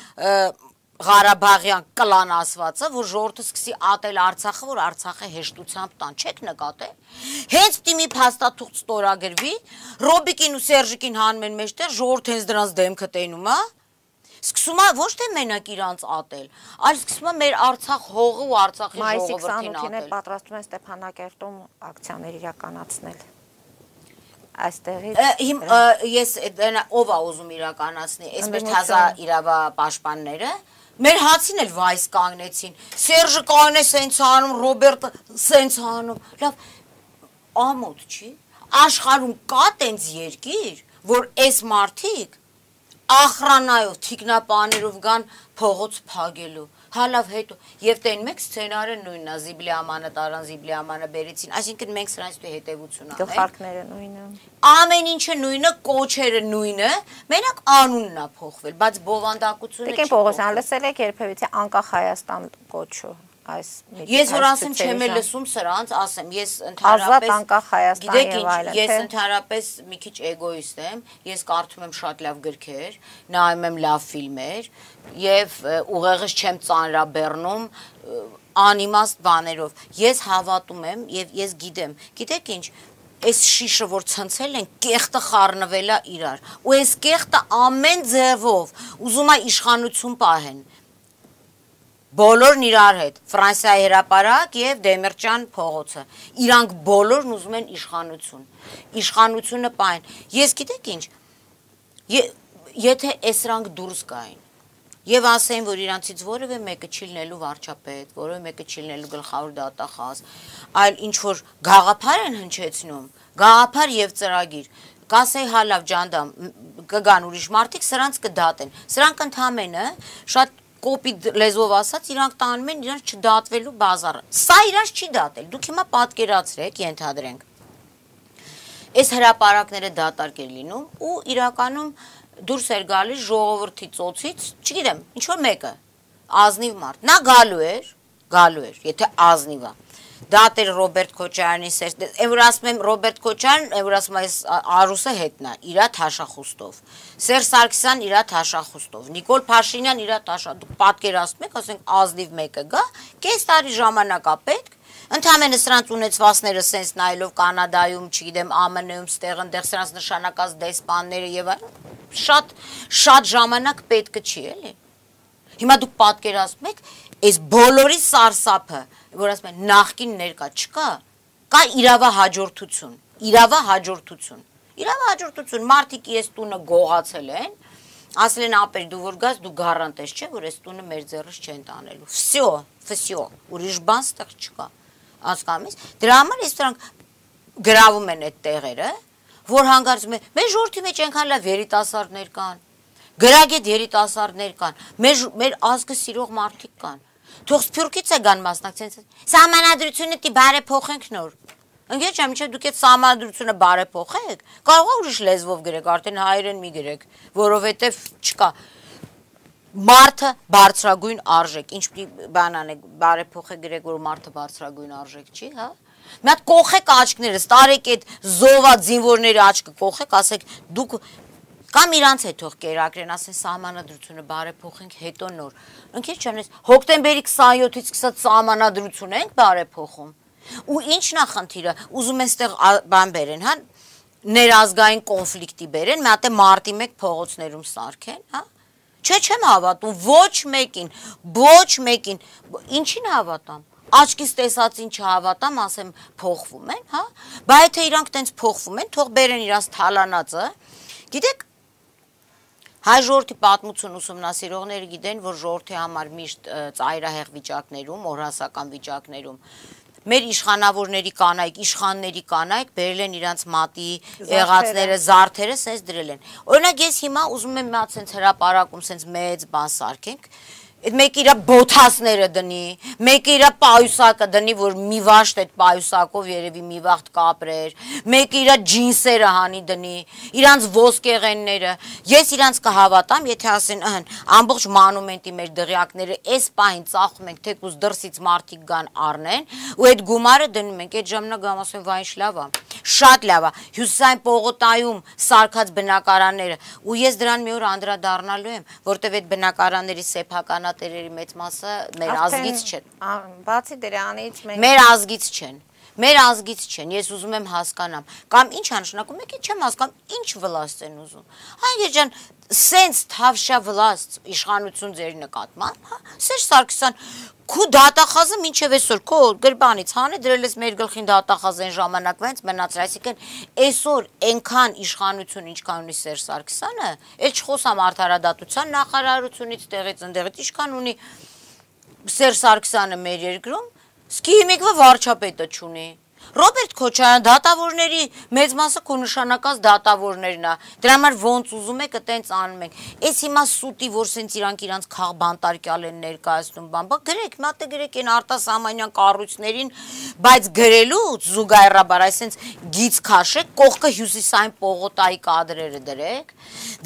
Ղարաբաղյան կլան ասվածը, որ ժողովուրդը սկսի ատել Արցախը, որ Արցախը հեշտությամբ տան, չեք նկատել։ Հենց պիտի մի փաստաթուղթ ստորագրվի, Ռոբիկին ու Սերժիկին հանում են մեջտեղ, ժողովուրդը հենց դրանց դեմքը տենում է, սկսում է ոչ թե մենակ իրանց ատել, այլ սկսում է մեր Արցախ հողը ու Արցախի ժողովրդին ատել։ ատել։ Պատրաստում են Ստեփանակերտում ակցիաներ իրականացնել։ Այստեղից ես ով է ուզում իրականացնի, այսպես թազա իրավապաշտպանները, մեր հացին էլ վայս կանգնեցին, Սերժը կանգնե սենց անում, Ռոբերտը սենց անում, լավ, ամոթ չի, աշխարհում կա տենց երկիր, որ այս մարդիկ ախրանայով, թիկնապաներով գան փողոց փագելու, հալավ հետո, և տեն մեկ սցենարը նույնն է, Զիբլիամանը տարան, Զիբլիամանը բերեցին, այսինքն մենք սրանց դու հետևություն անենք։ Գլխարկները նույնը։ Ամեն ինչը նույնը, կոչերը նույնը, մենակ անունն է փոխվել, բայց բովանդակությունը չի փոխվել։ Տիկին Պողոսյան, լսել եք երբևիցե անկախ Հայաստան կոչը։ Ես որ ասեմ չեմ է լսում սրանց, ասեմ, ես ընդհանրապես, գիտեք ինչ, ես ընդհանրապես մի քիչ էգոիստ եմ, ես կարդում եմ շատ լավ գրքեր, նայում եմ լավ ֆիլմեր և ուղեղս չեմ ծանրաբեռնում անիմաստ բաներով, ես հավատում եմ և ես գիտեմ, գիտեք ինչ, այս շիշը, որ ցնցել են, կեղտը խառնվել է իրար, ու այս կեղտը ամեն ձևով ուզում է իշխանություն պահեն, բոլորն իրար հետ, Ֆրանսիայի հրապարակ և Դեմիրճան փողոցը, իրանք բոլորն ուզում են իշխանություն, իշխանությունը պահեն, ես գիտեք ինչ, եթե էսրանք դուրս գային, և ասեին, որ իրանցից որևէ մեկը չի լինելու վարչապետ, որևէ մեկը չի լինելու գլխավոր դատախազ, այլ ինչ-որ գաղափար են հնչեցնում, գաղափար և ծրագիր, կասեի հալավ ջանդամ, կգան ուրիշ մարդիկ, սրանց կդատեն, սրանք ընդհանրապես շատ կոպիտ լեզվով ասած, իրանք տանում են իրանք չդատվելու բազարը, սա իրանք չի դատել, դուք հիմա պատկերացրեք, ենթադրենք, այս հրապարակները դատարկ էր լինում ու իրականում դուրս էր գալիս ժողովրդի ծոցից, չգիտեմ, ինչ-որ մեկը, ազնիվ մարդ, նա գալու էր, գալու էր, եթե ազնիվ է։ Դա դեր Ռոբերտ Քոչարյանի սեր, այն որ ասում եմ Ռոբերտ Քոչարյան, այն որ ասում այս Արուսը հետնա, իրա թաշախուստով, Սերժ Սարգսյան իրա թաշախուստով, Նիկոլ Փաշինյան իրա թաշա, դուք պատկերացնում եք, ասենք ազնիվ մեկը գա, կես տարի ժամանակ է պետք, ընդհանրապես սրանց ունեցվածները սենց նայելով Կանադայում, չգիտեմ, Α M N-ում, ստեղ ընդեղ սրանց նշանակած դեսպանները եւ այլն, շատ շատ ժամանակ պետք չի, էլի։ Հիմա դուք պատկերացնում եք, այս բոլորի սարսափը, որ ասում են նախկին ներկա չկա, կա իրավահաջորդություն, իրավահաջորդություն, իրավահաջորդություն, մարդիկ ես տունը գողացել են, ասել են ապեր դու որ գաս, դու գարանտես չէ, որ այս տունը մեր ձեռից չեն տանելու, վսյո, վսյո, ուրիշ բան ստեղ չկա, հասկանում ես, դրա համար ես դրանք գրավում են այդ տեղերը, որ հանգարցում են, մեր ժողովրդի մեջ այնքան լավ երիտասարդներ կան, գրագետ երիտասարդներ կան, մեր, մեր ազգը սիրող մարդիկ կան, թող Սփյուռքից է գան մասնակցեն, սահմանադրությունը դի բարեփոխենք նոր, ընկեր չեմ, մինչև դուք այդ սահմանադրությունը բարեփոխեք, կարող է ուրիշ լեզվով գրեք, արդեն հայերեն մի գրեք, որովհետև չկա, մարդը բարձրագույն արժեք, ինչ բան անեք, բարեփոխեք գրեք, որ մարդը բարձրագույն արժեք չի, հա? Մի հատ կողեք աչքներս, տարեք այդ զովա զինվորների աչքը կողեք, ասեք դուք կամ իրանց հետ թող կերակրեն, ասեն սահմանադրությունը բարեփոխենք, հետո նոր։ Ընկեր չանես, հոկտեմբերի քսանյոթից սկսած սահմանադրություն ենք բարեփոխում։ Ու ի՞նչն է խնդիրը, ուզում են ստեղ բան բերեն, հա, ներազգային կոնֆլիկտի բերեն, մի հատ է մարտի մեկ փողոցներում սարքեն, հա։ Չէ, չեմ հավատում, ոչ մեկին, ոչ մեկին, ինչին հավատամ։ Աչքից տեսածին չհավատամ, ասեմ փոխվում են, հա, բա եթե իրանք տենց փոխվում են, թող բերեն իրանց թալանածը, գիտեք, հայ ժողովրդի պատմություն ուսումնասիրողները գիտեն, որ ժողովրդի համար միշտ ծայրահեղ վիճակներում, օրհասական վիճակներում, մեր իշխանավորների կանայք, իշխանների կանայք բերել են իրանց մատի եղածները, զարդերը, սենց դրել են։ Օրինակ ես հիմա ուզում եմ մի հատ սենց հրապարակում, սենց մեծ բան սարքենք, մեկը իր բոթասները դնի, մեկը իր պայուսակը դնի, որ մի վաշտ այդ պայուսակով երևի մի վաղտ կապրեր, մեկը իր ջինսերը հանի դնի, իրանց ոսկեղենները, ես իրանց կհավատամ, եթե ասեն, ըհն, ամբողջ մանումենտի մեր դղյակները այս պահին ծախում ենք, թեկուզ դրսից մարդիկ գան առնեն, ու այդ գումարը դնում ենք, այդ ժամանակ գամ ասեմ, վայ ինչ լավ է, շատ լավ է, Հյուսիսային պողոտայում սարքած բնակարանները, ու ես դրան մի օր անդրադառնալու եմ, որտև այդ բնակարանների սեփական տերերի մեծ մասը մեր ազգից չեն։ Բացի դրանից մենք մեր ազգից չեն։ Մեր ազգից չեն, ես ուզում եմ հասկանամ, կամ ինչ անշնակում եք, չեմ հասկանում, ինչ վլաստ են ուզում։ Հայր ջան, սենց թավշա վլաստ իշխանություն ձեր նկատմամբ, հա, Սերժ Սարգսյան, քու դատախազը մինչև այսօր քո գրբանից հանե դրել ես մեր գլխին դատախազ այն ժամանակվանից մնացել, այսինքն այսօր այնքան իշխանություն ինչքան ունի Սերժ Սարգսյանը, էլ չխոսամ արդարադատության նախարարությունից տեղից ընդեղից ինչքան ունի Սերժ Սարգսյանը մեր երկրում, սկի հիմիկվա վարչապետը չունի։ Ռոբերտ Քոչարյան դատավորների մեծ մասը քո նշանակած դատավորներն է։ Դրա համար ոնց ուզում եք, այտենց անում եք։ Էս հիմա սուտի, որ սենց իրանք իրանց քաղբանտարկյալ են ներկայացնում, բան, բա գրեք, մատը գրեք այն արտասահմանյան կառույցներին, բայց գրելուց զուգահեռաբար, այսենց գիծ քաշեք, կողքը Հյուսիսային պողոտայի կադրերը դրեք,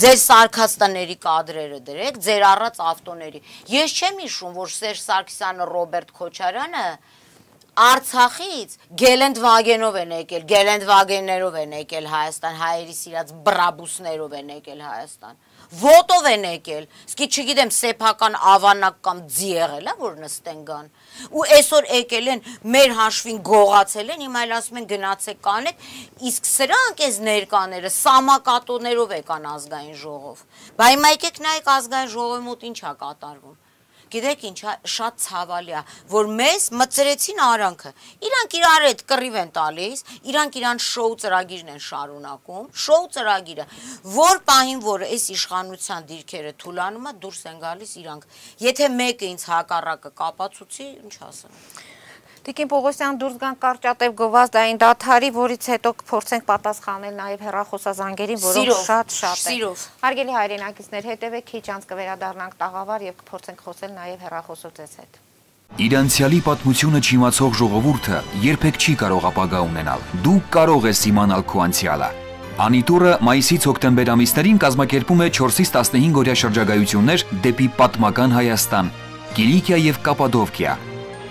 ձեր սարքաստաների կադրերը դրեք, ձեր առած ավտոների։ Ես չեմ հիշում, որ Սերժ Սարգսյանը, Ռոբերտ Քոչարյանը Արցախից Գելենդվագենով են եկել, Գելենդվագեններով են եկել Հայաստան, հայերի սիրած բրաբուսներով են եկել Հայաստան, ոտով են եկել, սկի չգիտեմ սեփական ավանակ կամ ձի եղել է, որ նստեն գան, ու այսօր եկել են, մեր հաշվին գողացել են, հիմա էլ ասում են գնացեք կանեք, իսկ սրանք այս ներկաները սամակատոներով եկան ազգային ժողով, բա հիմա եկեք նայեք ազգային ժողովի մոտ ինչ է կատարվում։ Գիտեք ինչ, շատ ցավալի է, որ մեզ մծրեցին արանքը, իրանք իրար հետ կռիվ են տալիս, իրանք իրան շոու ծրագիրն են շարունակում, շոու ծրագիրը, որ պահին, որ այս իշխանության դիրքերը թուլանում է, դուրս են գալիս իրանք, եթե մեկը ինձ հակառակը կապացուցի, ինչ ասեմ։ Տիկին Պողոսյան դուրս գան կարճատև գովազդային դադարի, որից հետո կփորձենք պատասխանել նաև հեռախոսազանգերին, որոնք շատ-շատ են։ Հարգելի հայրենակիցներ, հետևեք, քիչ անց կվերադառնանք տաղավար եւ կփորձենք խոսել նաև հեռախոսով ձեզ հետ։ Իր անցյալի պատմությունը չիմացող ժողովուրդը երբեք չի կարող ապագա ունենալ։ Դու կարող ես իմանալ քո անցյալը։ Անիտուրը մայիսից հոկտեմբեր ամիսներին կազմակերպում է չորսից տասնհինգ օրյա շրջագայություններ դեպի պատմական Հայաստան։ Կիլիկիա եւ Կապադովկիա,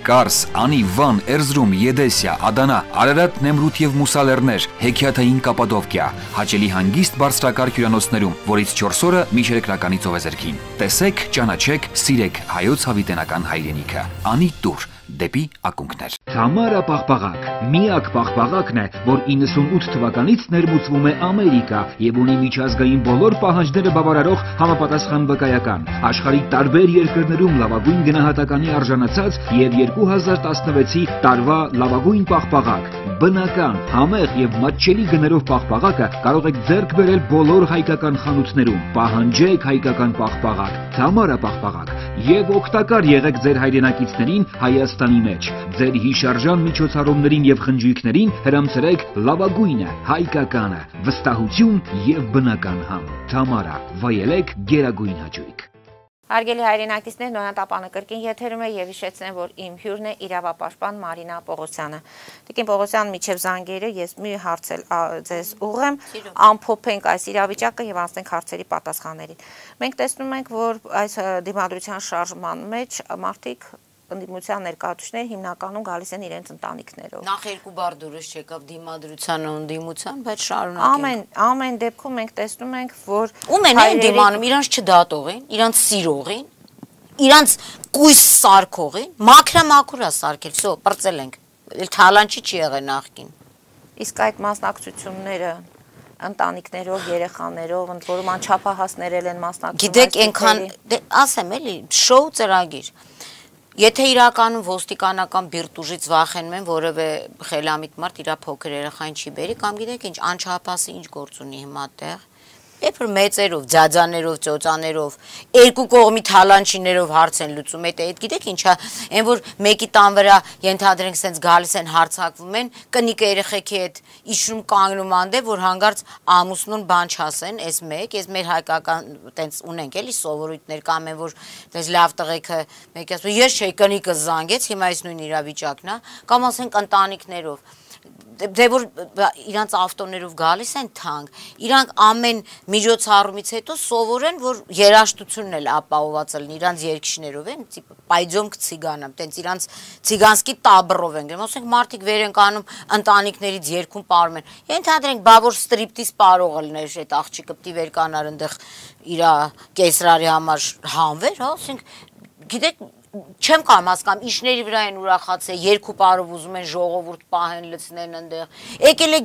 Կարս, Անի, Վան, Էրզրում, Եդեսիա, Ադանա, Արարատ, Նեմրութ եւ Մուսալերներ, Հեքիաթային Կապադովկիա, հաճելի հանգիստ բարձրակարգ հյուրանոցներում, որից չորս օրը միջերկրականի ծովեզերքին։ Տեսեք, ճանաչեք, սիրեք հայոց հավիտենական հայրենիքը։ Անի տուր դեպի ակունքներ։ Թամարա պաղպաղակ միակ պաղպաղակն է, որ իննսունութ թվականից ներմուծվում է Ամերիկա եւ ունի միջազգային բոլոր պահանջները բավարարող համապատասխան վկայական։ Աշխարհի տարբեր երկրներում լավագույն գնահատականի արժանացած եւ երկու հազար տասնվեցի տարվա լավագույն պաղպաղակ։ Բնական, համեղ եւ մատչելի գներով պաղպաղակը կարող եք ձեռք բերել բոլոր հայկական խանութներում։ Պահանջեք հայկական պաղպաղակ, Թամարա պաղպաղակ եւ օգտակար եղեք ձեր հայրենակիցներին Հայաստանի մեջ։ Ձեր հիշարժան միջոցառումներին եւ խնջույքներին հրամցրեք լավագույնը, հայկականը, վստահություն եւ բնական համ։ Թամարա, վայելեք գերագույն հաճույք։ Հարգելի հայրենակիցներ, Նոյան տապանը կրկին եթերում է եւ հիշեցնեմ, որ իմ հյուրն է իրավապաշտպան Մարինա Պողոսյանը։ Տիկին Պողոսյան, միջև զանգերը ես մի հարց էլ ձեզ ուղղեմ, ամփոփենք այս իրավիճակը եւ անցնենք հարցերի պատասխաններին։ Մենք տեսնում ենք, որ այս դիմադրության շարժման մեջ մարդիկ ընդդիմության ներկայացուցիչներ հիմնականում գալիս են իրենց ընտանիքներով։ Նախ երկու բառ դուրս չեկավ դիմադրությանը ու ընդդիմության, բայց շարունակենք։ Ամեն ամեն դեպքում մենք տեսնում ենք, որ ում են են դիմանում, իրանց չդատողին, իրանց սիրողին, իրանց կույս սարքողին, մաքրամաքուրա սարքել, սո բրծել ենք։ Թալանչի չի եղել նախքին։ Իսկ այդ մասնակցությունները ընտանիքներով, երեխաներով, ընդ որում անչափահասներ են մասնակցում։ Գիտեք, այնքան, ասեմ էլի, շոու ծրագիր։ Եթե իրականում ոստիկանական բիրտուժից վախենում են, որևէ խելամիտ մարդ իր փոքր երեխային չի բերի, կամ գիտեք ինչ, անչափահասը ինչ գործ ունի հիմա տեղ։ Երբ որ մեծերով, ձաձաներով, ծոծաներով, երկու կողմի թալանչիներով հարց են լուծում, այդ այդ գիտեք ինչա, այն որ մեկի տան վրա ենթադրենք սենց գալիս են հարցակվում են, կնիկ երեխեքի հետ իջնում կանգնում անդե, որ հանգարց ամուսնուն բան չասեն, այս մեկ, այս մեր հայկական տենց ունենք էլի սովորույթներ կամ են որ տենց լավ տղեկը մեկի ասում, ես չէի կնիկը զանգեց, հիմա այս նույն իրավիճակն է, կամ ասենք ընտանիքներով դե որ իրանց ավտոներով գալիս են թանկ, իրանք ամեն միջոցառումից հետո սովորեն, որ երաշտությունն էլ ապահոված լինի, իրանց երկիշներով են, պայձոմ կցիգանամ, տենց իրանց ցիգանսկի տաբրով են, ասենք մարդիկ վեր են կանում ընտանիքներից երկում պարում են, ենթադրենք բա որ ստրիպտիզ պարողը լիներ այդ աղջիկը պիտի վեր կանար այնտեղ իր կեսրարի համար հանվեր, հա, ասենք գիտեք չեմ կամ հասկանում, իշների վրա են ուրախացել, երկու պարով ուզում են ժողովուրդ պահեն լցնեն ընդեղ, եկել է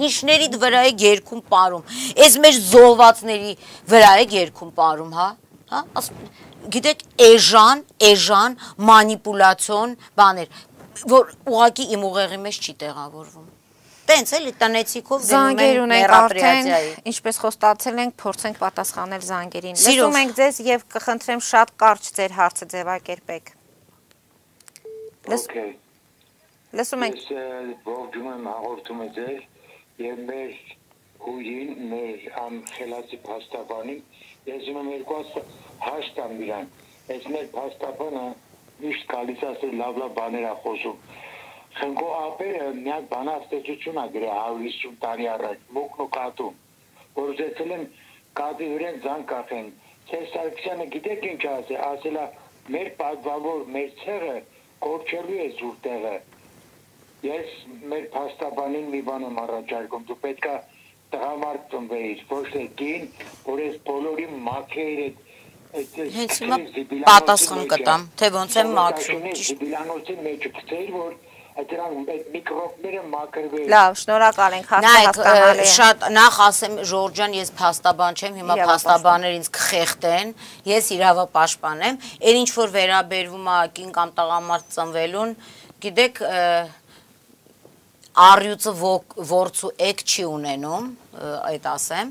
իշների վրա է երկում պարում, այս մեր զոհվածների վրա է երկում պարում, հա, գիտեք, էժան, էժան, մանիպուլացիոն բաներ, որ ուղղակի իմ ուղեղի մեջ չի տեղավորվում։ Տենց էլի տնեցիքով զանգեր ունենք արդեն, ինչպես խոստացել ենք, փորձենք պատասխանել զանգերին։ Լսում ենք ձեզ եւ կխնդրեմ շատ կարճ ձեր հարցը ձևակերպեք։ Լսում ենք։ Ես ողջունում եմ հաղորդումը ձեր եւ մեր հույրին, մեր անխելացի փաստաբանին, ես ում եմ երկու հաշտամ իրան։ Այս մեր փաստաբանը միշտ գալիս ասել լավ-լավ բաներ է խոսում։ Խնկո ապերը միակ բանաստեղծություն է գրել հարյուր հիսուն տարի առաջ, մուկն ու կատուն, որ ուզեցել են կատի վրան զանգ կախեն։ Ցեր Սարգսյանը գիտեք ինչ ասել, ասել է մեր պատվավոր, մեր ցեղը կորչելու է զուր տեղը։ Ես մեր փաստաբանին մի բան եմ առաջարկում, դու պետք է տղամարդ ծնվեիր, ոչ թե կին, որ այս բոլորի մաքրեր այդ հենց հիմա պատասխան կտամ, թե ոնց եմ մաքրում։ Զիբիլանոցի մեջ գցեիր, որ Այդրան այդ միկրոբները մաքրվել։ Լավ, շնորհակալ ենք, հարցը հասկանալի է։ Շատ նախ ասեմ Ժորժ ջան, ես փաստաբան չեմ, հիմա փաստաբաններ ինձ կխեղտեն, ես իրավապաշտպան եմ, այն ինչ որ վերաբերվում է կին կամ տղամարդ ծնվելուն, գիտեք, առյուծը ворցու էկ չի ունենում, այդ ասեմ,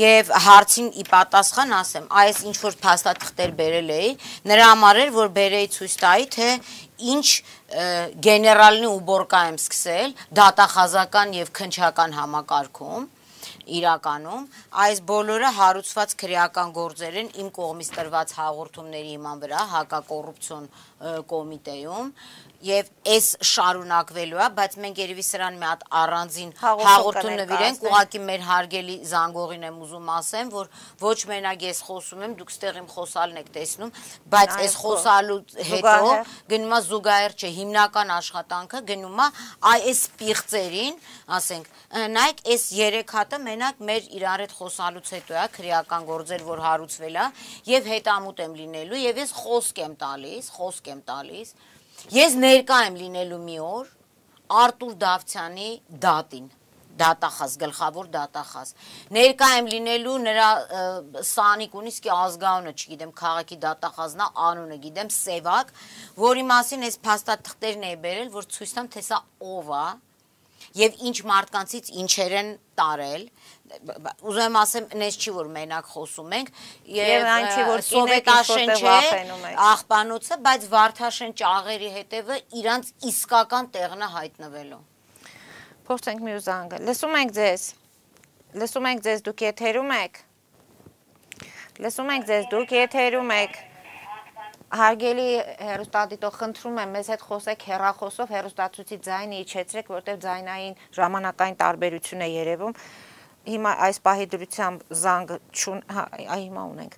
եւ հարցին ի պատասխան ասեմ, այս ինչ որ փաստաթղթեր բերել էի, նրա համար էր, որ բերեի ցույց տայի, թե ինչ գեներալնի ուբորկա եմ սկսել դատախազական եւ քնչական համակարգում իրականում այս բոլորը հարուցված քրեական գործեր են իմ կողմից տրված հաղորդումների հիման վրա հակակոռուպցիոն կոմիտեում եւ այս շարունակվելու է, բայց մենք երևի սրան մի հատ առանձին հաղորդում նվիրենք, ուղղակի մեր հարգելի զանգողին եմ ուզում ասեմ, որ ոչ մենակ ես խոսում եմ, դուք ստեղ իմ խոսալն եք տեսնում, բայց այս խոսալու հետո գնում է զուգահեռ չէ, հիմնական աշխատանքը գնում է այս պիղծերին, ասենք, նայեք, այս երեք հատը մենակ մեր իրար հետ խոսալուց հետո է քրեական գործեր, որ հարուցվել է եւ հետամուտ եմ լինելու եւ ես խոսք եմ տալիս, խոսք եմ տալիս Ես ներկա եմ լինելու մի օր Արտուր Դավթյանի դատին, դատախազ, գլխավոր դատախազ, ներկա եմ լինելու նրա սանիկ ունիսկի ազգանունը, չգիտեմ, քաղաքի դատախազնա անունը, գիտեմ, Սևակ, որի մասին ես փաստաթղթերն էի բերել, որ ցույց տամ, թե սա ով է եւ ինչ մարդկանցից ինչեր են տարել, ուզում եմ ասեմ, նես չի, որ մենակ խոսում ենք, եւ Սովետաշեն չէ, աղբանոցը, բայց Վարդաշեն ճաղերի հետևը իրանց իսկական տեղն է հայտնվելու։ Փորձենք մի զանգը։ Լսում ենք ձեզ։ Լսում ենք ձեզ, դուք եթերում եք։ Լսում ենք ձեզ, դուք եթերում եք։ Հարգելի հեռուստադիտող, խնդրում եմ մեզ հետ խոսեք հեռախոսով, հեռուստացույցի ձայնը իջեցրեք, որտեղ ձայնային ժամանակային տարբերություն է երևում։ Հիմա այս պահի դրությամբ զանգ չուն, այ հիմա ունենք։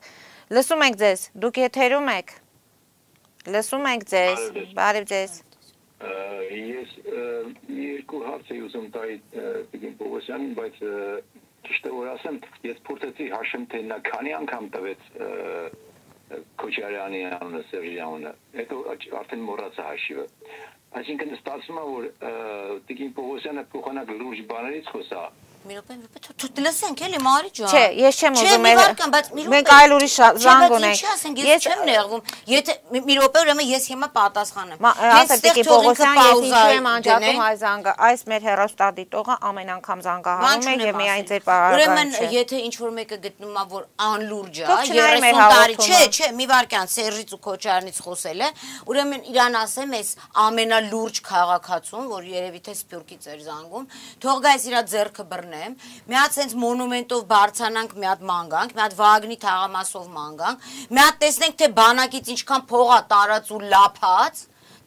Լսում ենք ձեզ, դուք եթերում եք։ Լսում ենք ձեզ, բարև ձեզ։ Ես երկու հարց եմ ուզում տալ Տիկին Պողոսյանին, բայց ճիշտ է որ ասեմ, ես փորձեցի հաշեմ, թե նա քանի անգամ տվեց Քոչարյանի անունը, Սերժի անունը, հետո արդեն մոռացա հաշիվը։ Այսինքն ստացվում է, որ Տիկին Պողոսյանը փոխանակ լուրջ բաներից խոսա։ Մի րոպե, մի րոպե, թող լսենք էլի Մարի ջան։ Չէ, ես չեմ ուզում էլ։ Մենք այլ ուրիշ զանգ ունենք։ Ես չեմ նեղվում։ Եթե մի րոպե ուրեմն ես հիմա պատասխանեմ։ Ասել Տիկին Պողոսյան, ես ինչու եմ անջատում այս զանգը։ Այս մեր հեռուստադիտողը ամեն անգամ զանգահարում է եւ միայն ձեր Ուրեմն եթե ինչ որ մեկը գտնում է, որ անլուրջ է, երեսուն տարի, չէ, չէ, մի վարքյան Սերժից ու Քոչարյանից խոսել է, ուրեմն իրան ասեմ, այս ամենալուրջ քաղաքացուն, որ երևի թե Սփյուռքից էր զանգում, թող գայս իրա ձեռքը բռնեմ, մի հատ sense մոնումենտով բարձանանք, մի հատ մանգանք, մի հատ Վագնի թաղամասով մանգանք, մի հատ տեսնենք, թե բանակից ինչքան փող է տարած ու լափած,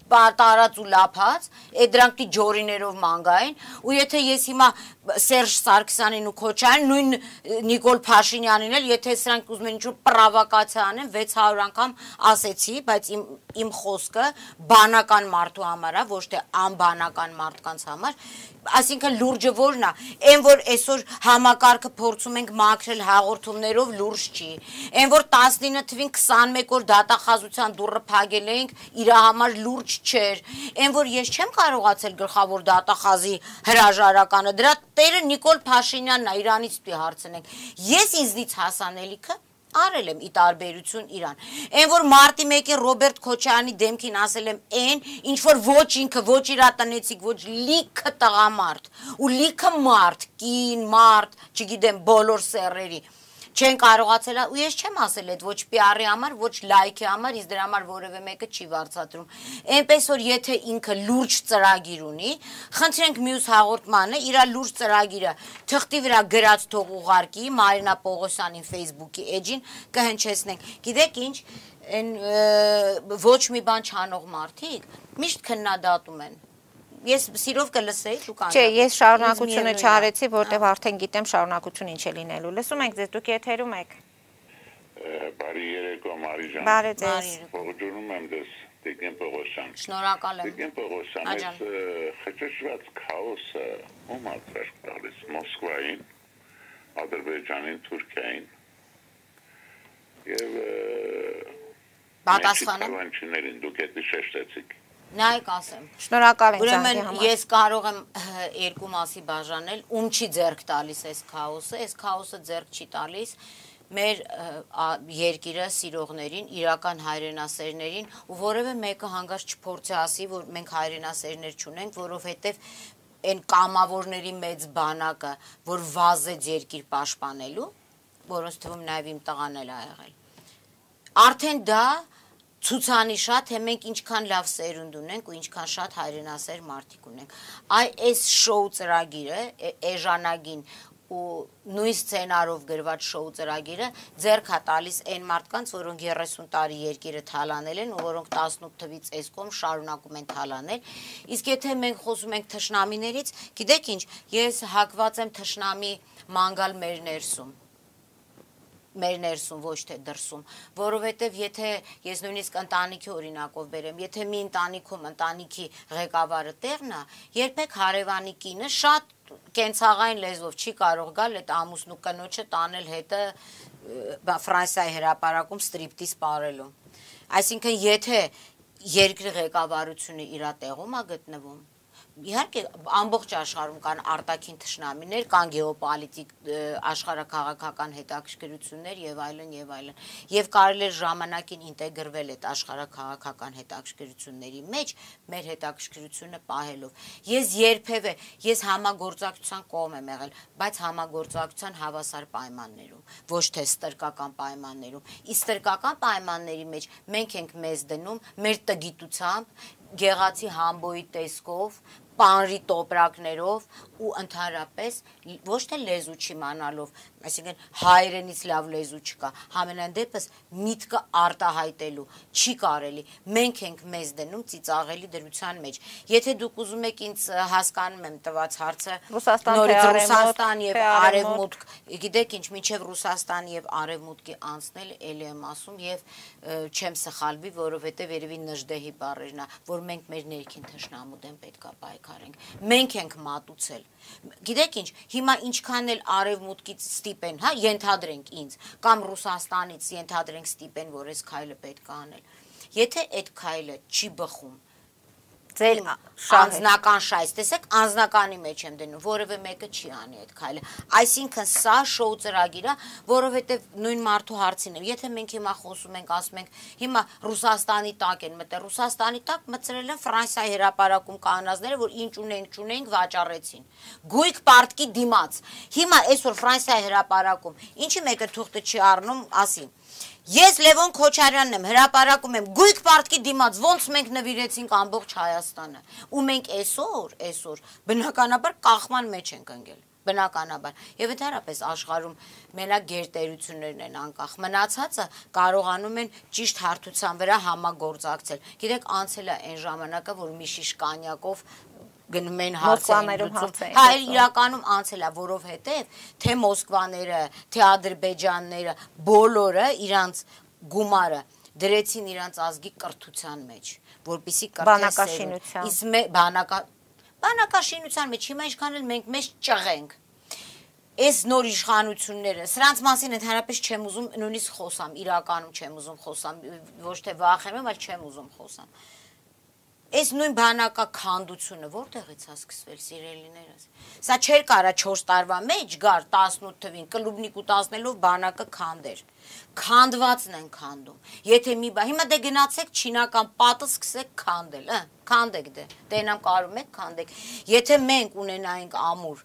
տարած ու լափած, այդ դրանք ջորիներով մանգային, ու եթե ես հիմա Սերժ Սարգսյանին ու Քոչարյանին, նույն Նիկոլ Փաշինյանին էլ, եթե սրանք ուզում են ինչ-որ պրովոկացիա անեն, վեց հարյուր անգամ ասեցի, բայց իմ իմ խոսքը բանական մարդու համար է, ոչ թե անբանական մարդկանց համար, այսինքն լուրջը որն է, այն որ այսօր համակարգը փորձում ենք մաքրել հաղորդումներով լուրջ չի, այն որ տասնինը թվին քսանմեկ օր դատախազության դուռը փակել էինք, իր համար լուրջ չէր, այն որ ես չեմ կարողացել գլխավոր դատախազի հրաժարականը, դրա տերը Նիկոլ Փաշինյանն է, իրանից պիտի հարցնենք, ես ինձնից հասանելիքը արել եմ ի տարբերություն իրան, այն որ մարտի մեկին Ռոբերտ Քոչարյանի դեմքին ասել եմ այն, ինչ որ ոչ ինքը, ոչ իրա տնեցիկ, ոչ լիքը տղամարդ, ու լիքը մարդ, կին, մարդ, չգիտեմ, բոլոր սեռերի, չեն կարողացել, ու ես չեմ ասել այդ ոչ պի արի համար, ոչ լայքի համար, իսկ դրա համար որևէ մեկը չի վարձատրում, այնպես որ եթե ինքը լուրջ ծրագիր ունի, խնդրենք մյուս հաղորդմանը, իրա լուրջ ծրագիրը թղթի վրա գրած թող ուղարկի, Մարինա Պողոսյանին Facebook-ի էջին կհնչեցնենք, գիտեք ինչ, ոչ մի բան չանող մարդիկ, միշտ քննադատում են, Ես սիրով կլսեի, դուք անջատեք։ Չէ, ես շարունակությունը չարեցի, որտեղ արդեն գիտեմ շարունակություն ինչ է լինելու։ Լսում եք ձեզ, դուք եթերում եք։ Բարի երեկո, Մարի ջան։ Բարի ձեզ։ Ողջունում եմ ձեզ, Տիկին Պողոսյան։ Շնորհակալ եմ։ Տիկին Պողոսյան, այս խճճված քաոսը ում է ծրք տալիս Մոսկվային, Ադրբեջանին, Թուրքիային եւ պատասխանը դուք էդի շեշտեցիք։ Նայեք ասեմ։ Շնորհակալ եմ Ուրեմն ես կարող եմ երկու մասի բաժանել, ում չի ձեռք տալիս այս քաոսը, այս քաոսը ձեռք չի տալիս մեր երկիրը սիրողներին, իրական հայրենասերներին, ու որևէ մեկը հանգած չփորձի ասի, որ մենք հայրենասերներ չունենք, որովհետև այն կամավորների մեծ բանակը, որ վազեց երկիր պաշտպանելու, որոնց թվում նաև իմ տղան էլ ա եղել։ Արդեն դա ցուցանի շատ, թե մենք ինչքան լավ սերունդ ունենք ու ինչքան շատ հայրենասեր մարդիկ ունենք։ Այ այս շոու ծրագիրը, էժանագին ու նույն սցենարով գրված շոու ծրագիրը ձեռք է տալիս այն մարդկանց, որոնք երեսուն տարի երկիրը թալանել են ու որոնք տասնութ թվից այս կողմ շարունակում են թալանել։ Իսկ եթե մենք խոսում ենք թշնամիներից, գիտեք ինչ, ես հակված եմ թշնամի մանգալ մեր ներսում։ Մեր ներսում, ոչ թե դրսում, որովհետև եթե ես նույնիսկ ընտանիքի օրինակով բերեմ, եթե մի ընտանիքում ընտանիքի ղեկավարը տեղն է, երբեք հարևանի կինը շատ կենցաղային լեզվով չի կարող գալ այդ ամուսնու կնոջը տանել հետը Ֆրանսիայի հրապարակում ստրիպտիզ պարելու։ Այսինքն եթե երկրի ղեկավարությունը իր տեղում է գտնվում, իհարկե ամբողջ աշխարհում կան արտաքին թշնամիներ, կան գեոպոլիտիկ աշխարհաքաղաքական հետաքրքրություններ եւ այլն եւ այլն։ Եվ կարելի է ժամանակին ինտեգրվել այդ աշխարհաքաղաքական հետաքրքրությունների մեջ մեր հետաքրքրությունը պահելով։ Ես երբևէ ես համագործակցության կողմ եմ եղել, բայց համագործակցության հավասար պայմաններում, ոչ թե ստրկական պայմաններում։ Իսկ ստրկական պայմանների մեջ մենք ենք մեզ դնում մեր տգիտությամբ, գեղացի համբոյի տեսքով, պանրի տոպրակներով ու ընդհանրապես ոչ թե լեզու չիմանալով, այսինքն հայերենից լավ լեզու չկա, համենայն դեպս միտքը արտահայտելու չի կարելի, մենք ենք մեզ դնում ծիծաղելի դրության մեջ։ Եթե դուք ուզում եք ինձ հասկանում եմ տված հարցը, նորից Ռուսաստան եւ Արևմուտք, գիտեք ինչ, մինչեւ Ռուսաստան եւ Արևմուտքի անցնել էլի եմ ասում եւ չեմ սխալվի, որովհետեւ երևի նժդեհի բառերն է, որ մենք մեր ներքին թշնամու դեմ պետքա պայքարենք։ Մենք ենք մատուցել։ Գիտեք ինչ, հիմա ինչքան էլ Արևմուտքից ստիպեն, հա, ենթադրենք ինձ, կամ Ռուսաստանից ենթադրենք ստիպեն, որ այս քայլը պետք է անել։ Եթե այդ քայլը չի բխում, ձեր անձնական շայս, տեսեք, անձնականի մեջ եմ դնում, որևէ մեկը չի անի այդ քայլը։ Այսինքն սա շոու ծրագիր է, որովհետև նույն մարդու հարցին եմ, եթե մենք հիմա խոսում ենք, ասում ենք, հիմա Ռուսաստանի տակ են մտել, Ռուսաստանի տակ մտցրել են Ֆրանսիայի հրապարակում կանանազները, որ ինչ ունենք, չունենք, վաճառեցին։ Գույք պարտքի դիմաց։ Հիմա այսօր Ֆրանսիայի հրապարակում, ինչի մեկը թուղթը չի առնում, ասի։ Ես Լևոն Քոչարյանն եմ, հրապարակում եմ, գույք պարտքի դիմաց, ոնց մենք նվիրեցինք ամբողջ Հայաստանը։ Ու մենք այսօր, այսօր բնականաբար կախման մեջ ենք ընկել, բնականաբար։ Եվ ընդհանրապես աշխարհում մենակ գերտերություններն են անկախ, մնացածը կարողանում են ճիշտ հարթության վրա համագործակցել։ Գիտեք, անցել է այն ժամանակը, որ մի շիշ կանյակով գնում են հարցերում, հա, իրականում անցել է, որովհետև թե Մոսկվաները, թե Ադրբեջանները, բոլորը իրանց գումարը դրեցին իրանց ազգի կրթության մեջ, որպեսզի բանակաշինության, բանակաշինության մեջ, հիմա ինչքան էլ մենք մեզ ճղենք, այս նոր իշխանությունները, սրանց մասին ընդհանրապես չեմ ուզում նույնիսկ խոսամ, իրականում չեմ ուզում խոսամ, ոչ թե վախենում, այլ չեմ ուզում խոսամ։ Այս նույն բանակաքանդությունը որտեղից է սկսվել, սիրելիներս։ Սա չէր կարա չորս տարվա մեջ գար տասնութ թվին կլուբնիկ ուտացնելով բանակը քանդեր։ Քանդվածն են քանդում։ Եթե մի բա, հիմա դե գնացեք չինական պատը սկսեք քանդել, հա, քանդեք դե։ Դենամ կարում եք քանդեք։ Եթե մենք ունենայինք ամուր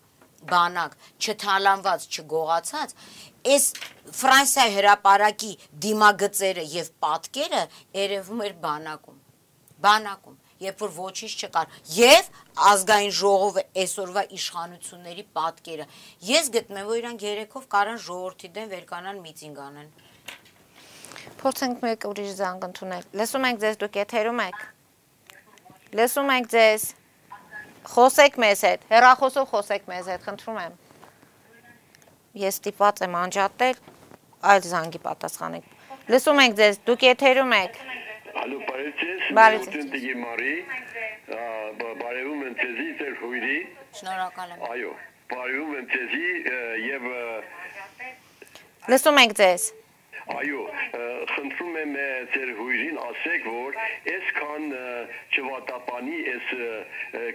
բանակ, չթալանված, չգողացած, այս Ֆրանսիայի հրապարակի դիմագծերը եւ պատկերը երևում էր բանակում։ Բանակում, երբ որ ոչինչ չկար, եւ ազգային ժողովը այսօրվա իշխանությունների պատկերը։ Ես գտնում եմ, որ իրանք երեքով կարան ժողովրդի դեմ վերկանան միտինգ անեն։ Փորձենք մեկ ուրիշ զանգ ընդունել։ Լսում ենք ձեզ, դուք եթերում եք։ Լսում ենք ձեզ։ Խոսեք մեզ հետ, հեռախոսով խոսեք մեզ հետ, խնդրում եմ։ Ես ստիպված եմ անջատել, այլ զանգի պատասխանեք։ Լսում ենք ձեզ, դուք եթերում եք։ Ալո, բարեցես, Բարեցես։ Տնտիգի Մարի, բարևում եմ ձեզի, ձեր հույրի։ Շնորհակալ եմ։ Այո, բարևում եմ ձեզի եւ Լսում ենք ձեզ։ Այո, խնդրում եմ ձեր հույրին ասեք, որ այսքան չվատապանի այս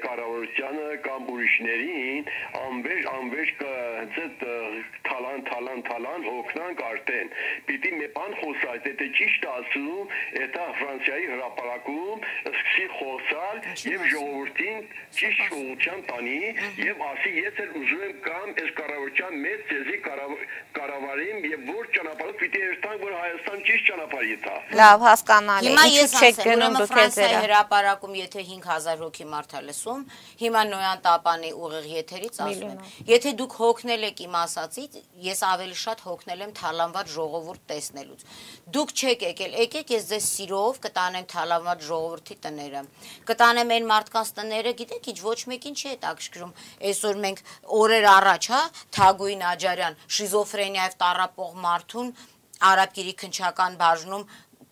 կառավարությանը կամ ուրիշներին անվերջ անվերջ հենց թալան թալան թալան հոգնանք արդեն։ Պիտի մի բան խոսած, եթե ճիշտ ասում, դա Ֆրանսիայի հրապարակում սկսի խոսալ եւ ժողովրդին ճիշտ շուտության տանի եւ ասի ես էլ ուզում եմ կամ այս կառավարության մեծ ծեզի կառավարին եւ որ ճանապարհով պիտի երթան որ Հայաստան ճիշտ ճանապարհ եթա։ Լավ, հասկանալի։ Հիմա ես չեք ասեմ, գնում դուք Ֆրանսիայի հրապարակում եթե հինգ հազար հոգի մարդ է լսում, հիմա Նոյան Տապանի ուղիղ եթերից ասում եմ, եթե դուք հոգնել եք իմ ասածից, ես ավելի շատ հոգնել եմ թալանված ժողովուրդ տեսնելուց։ Դուք չեք եկել, եկեք ես ձեզ սիրով կտանեմ թալանված ժողովրդի տները։ Կտանեմ այն մարդկանց տները, գիտեք ինչ, ոչ մեկին չի հետաքրքրում։ Այսօր մենք օրեր առաջ, հա, Թագուհի Նաջարյան շիզոֆրենիայով տառապող մարդուն Արաբկիրի քնչական բաժնում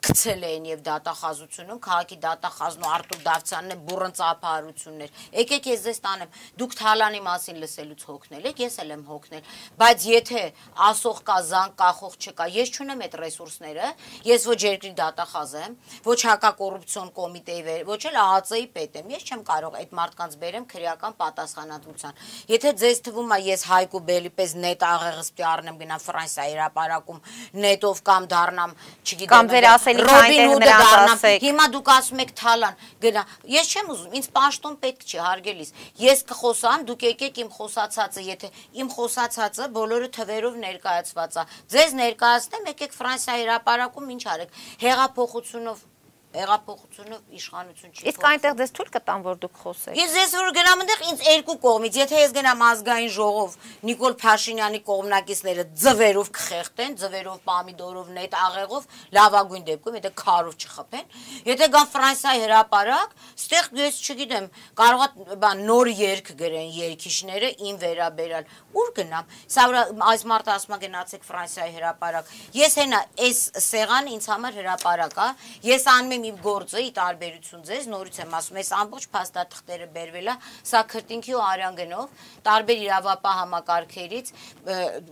գցել էին եւ դատախազությունում, քաղաքի դատախազն ու Արտուր Դավթյանն է բուրըն ծափահարություններ։ Եկեք ես ձեզ տանեմ, դուք Թալանի մասին լսելուց հոգնել եք, ես էլ եմ հոգնել, բայց եթե ասող կա, զանգ կախող չկա, ես չունեմ այդ ռեսուրսները, ես ոչ երկրի դատախազ եմ, ոչ հակակոռուպցիոն կոմիտեի, ոչ էլ ԱԱԾ-ի պետ եմ, ես չեմ կարող այդ մարդկանց բերեմ քրեական պատասխանատվության։ Եթե ձեզ թվում է ես Հայկու Բելի պես նետ աղեղս պիտի առնեմ գնամ Ֆրանսիայի հրապարակում նետով կամ դառնամ, չգիտեմ, Ռոբին Հուդը դառնամ, հիմա դուք ասում եք Թալան, գնա, ես չեմ ուզում, ինձ պաշտոն պետք չի, հարգելիս, ես կխոսամ, դուք եկեք իմ խոսացածը, եթե իմ խոսացածը բոլորը թվերով ներկայացված է, ձեզ ներկայացնեմ, եկեք Ֆրանսիայի հրապարակում ինչ արեք, հեղափոխությունով Հեղափոխությունով իշխանություն չի։ Իսկ այնտեղ դες թույլ կտան, որ դուք խոսեք։ Ես ես որ գնամ այնտեղ ինձ երկու կողմից, եթե ես գնամ ազգային ժողով, Նիկոլ Փաշինյանի կողմնակիցները ձվերով կխեղտեն, ձվերով, պամիդորով, նետ աղեղով, լավագույն դեպքում, եթե քարով չխփեն, եթե գան Ֆրանսիայի հրապարակ, ստեղ ես չգիտեմ, կարող է բան նոր երգ գրեն երգիչները ին վերաբերալ, ուր գնամ։ Սա այս մարդը ասում է գնացեք Ֆրանսիայի հրապարակ։ Ես հենա այս սեղանը ինձ համար հրապարակ է, ես անում եմ իմ գործը, ի տարբերություն ձեզ, նորից եմ ասում, այս ամբողջ փաստաթղթերը բերվել է, սա քրտինքի ու արյանգնով, տարբեր իրավապահ համակարգերից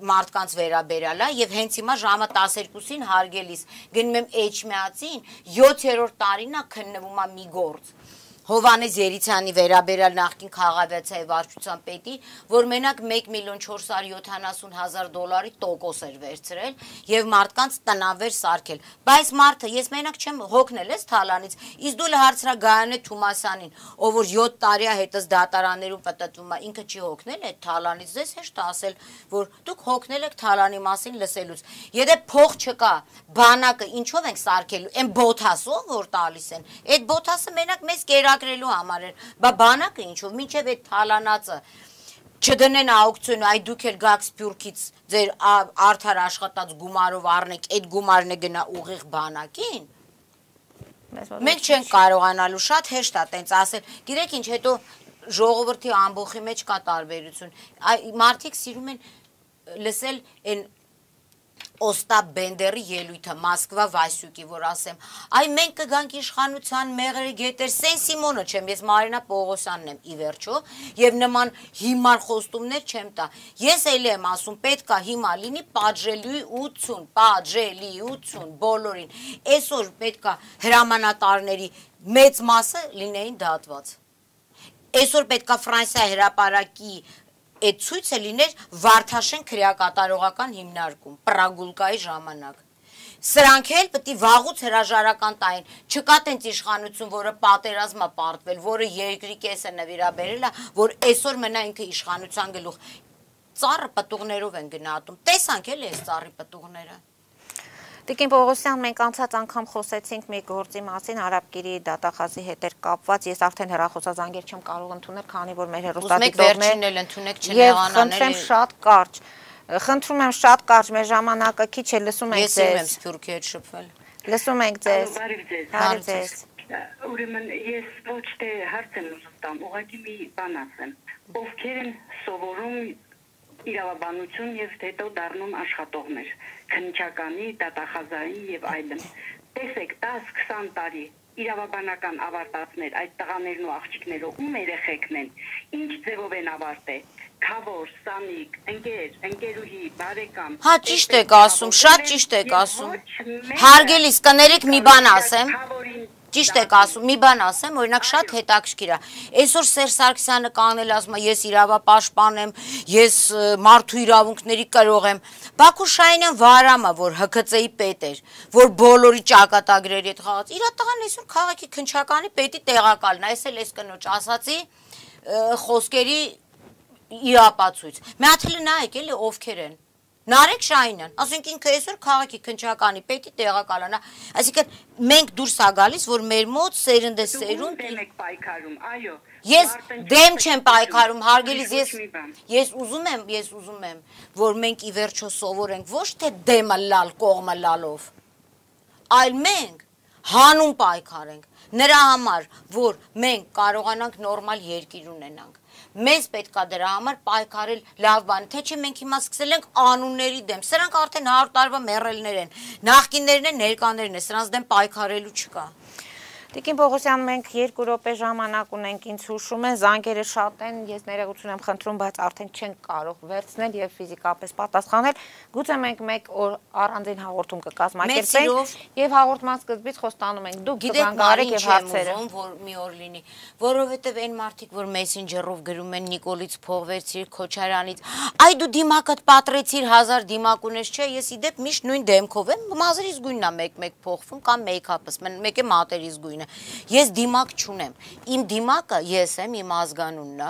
մարդկանց վերաբերալ է եւ հենց հիմա ժամը տասներկուսին հարգելիս գնում եմ Էջմիածին, յոթերորդ տարին է քննվում է մի գործ։ Հովանես Երիցյանի վերաբերյալ նախկին քաղաքացիայի վարչության պետի, որ մենակ մեկ միլիոն չորս հարյուր յոթանասուն հազար դոլարի տոկոս էր վերցրել եւ մարդկանց տնավեր սարքել։ Բայց մարդը ես մենակ չեմ հոգնել ես Թալանից, իսկ դու հարցրագայանե Թումասյանին, ով որ յոթ տարի է հետս դատարաններում պատտվում է, ինքը չի հոգնել այդ Թալանից, ձեզ հեշտ է ասել, որ դուք հոգնել եք Թալանի մասին լսելուց։ Եթե փող չկա, բանակը ինչով ենք սարքելու, այն բոթասով որ տալիս են, այդ բոթասը մենակ մեզ կերակրելու համար էր, բա բանակը ինչով, մինչև այդ Թալանածը չդնեն աուկցիոն, այ դուք էլ գաք Սփյուռքից ձեր արդար աշխատած գումարով առնեք, այդ գումարն է գնա ուղիղ բանակին։ Մենք չենք կարողանալու, շատ հեշտ է տենց ասել, գիտեք ինչ, հետո ժողովրդի ամբողջի մեջ կա տարբերություն, մարդիկ սիրում են լսել այն Օստապ Բենդերի ելույթը Մոսկվա Վասյուկի, որ ասեմ, այ մենք կգանք իշխանության մեղրի գետեր, Սեն Սիմոնը չեմ, ես Մարինա Պողոսյանն եմ ի վերջո, եւ նման հիմար խոստումներ չեմ տա։ Ես էլի եմ ասում, պետք է հիմա լինի պատժելիություն, պատժելիություն բոլորին։ Այսօր պետք է հրամանատարների մեծ մասը լինեին դատված։ Այսօր պետք է Ֆրանսիայի հրապարակի այդ ցույցը լիներ Վարդաշեն քրեակատարողական հիմնարկում, Պրագուլկայի ժամանակ։ Սրանք էլ պետք է վաղուց հրաժարական տային, չկա տենց իշխանություն, որը պատերազմ է պարտվել, որը երկրի կեսը նվիրաբերել է, որ այսօր մնա ինքը իշխանության գլուխ։ Ծառը պտուղներով են գնահատում, տեսանք էլի այս ծառի պտուղները։ Տիկին Պողոսյան, մենք անցած անգամ խոսեցինք մի գործի մասին, Արաբկիրի դատախազի հետ էր կապված, ես արդեն հեռախոսազանգեր չեմ կարող ընդունել, քանի որ մեր հեռուստադիտողներն էլ ընդունեք չնեղանանել։ Խնդրեմ շատ կարճ, խնդրում եմ շատ կարճ, մեր ժամանակը քիչ է, լսում ենք ձեզ։ Ես եմ Սփյուռքի հետ շփվել։ Լսում ենք ձեզ։ Բարև ձեզ։ Ուրեմն ես ոչ թե հարց եմ ուզում տամ, ուղղակի մի բան ասեմ։ Ովքեր են սովորում իրավաբանություն եւ հետո դառնում աշխատողներ, քննչականի, դատախազային եւ այլն։ Տեսեք, դաս-քսան տարի իրավաբանական ավարտածներ, այդ տղաներն ու աղջիկները ում երեխեքն են, ինչ ձևով են ավարտել։ Քավոր, սանիկ, ընկեր, ընկերուհի, բարեկամ։ Հա ճիշտ եք ասում, շատ ճիշտ եք ասում։ Հարգելիս, կներեք մի բան ասեմ։ Ճիշտ եք ասում, մի բան ասեմ, օրինակ շատ հետաքրքիր է։ Այսօր Սերժ Սարգսյանը կանել ասում է, ես իրավապաշտպան եմ, ես մարդու իրավունքների կրող եմ։ Բաքու Շահինյան Վարամը, որ Հ K C-ի պետ էր, որ բոլորի ճակատագրերի հետ խաղաց, իր տղան այսօր քաղաքի քննչականի պետի տեղակալն է, այս էլ էս կնոջ ասացի խոսքերի իրապացույց։ Մի հատ էլ նայեք, էլի ովքեր են։ Նարեկ Շահինյան, ասենք ինքը այսօր քաղաքի քննչականի պետի տեղակալն է, այսինքն մենք դուրս ա գալիս, որ մեր մոտ սերնդե սերունդ եք պայքարում, այո։ Ես դեմ չեմ պայքարում, հարգելիս, ես ես ուզում եմ, ես ուզում եմ, որ մենք ի վերջո սովորենք ոչ թե դեմը լալ, կողմը լալով, այլ մենք հանուն պայքարենք, նրա համար, որ մենք կարողանանք նորմալ երկիր ունենանք։ Մեզ պետք է դրա համար պայքարել լավ բան, թե չէ մենք հիմա սկսել ենք անունների դեմ, սրանք արդեն հարյուր տարվա մեռելներ են, նախկիններն են, ներկաներն են, սրանց դեմ պայքարելու չկա։ Տիկին Պողոսյան, մենք երկու րոպե ժամանակ ունենք, ինձ հուշում են, զանգերը շատ են, ես ներողություն եմ խնդրում, բայց արդեն չենք կարող վերցնել եւ ֆիզիկապես պատասխանել։ Գուցե մենք մեկ օր առանձին հաղորդում կկազմակերպենք եւ հաղորդման սկզբից խոստանում ենք, դուք կզանգարեք եւ հարցերը, որ մի օր լինի, որովհետեւ այն մարդիկ, որ մեսենջերով գրում են Նիկոլից փողվեցիր, Քոչարյանից, այ դու դիմակդ պատրեցիր հազար դիմակ ունես, չէ, ես իդեպ միշտ նույն դեմքով եմ, մազերից գույնն է մեկ-մեկ փոխվում կամ մեյքափս, մեկ է մատերից գույնը։ Ես դիմակ չունեմ, իմ դիմակը ես եմ, իմ ազգանունն է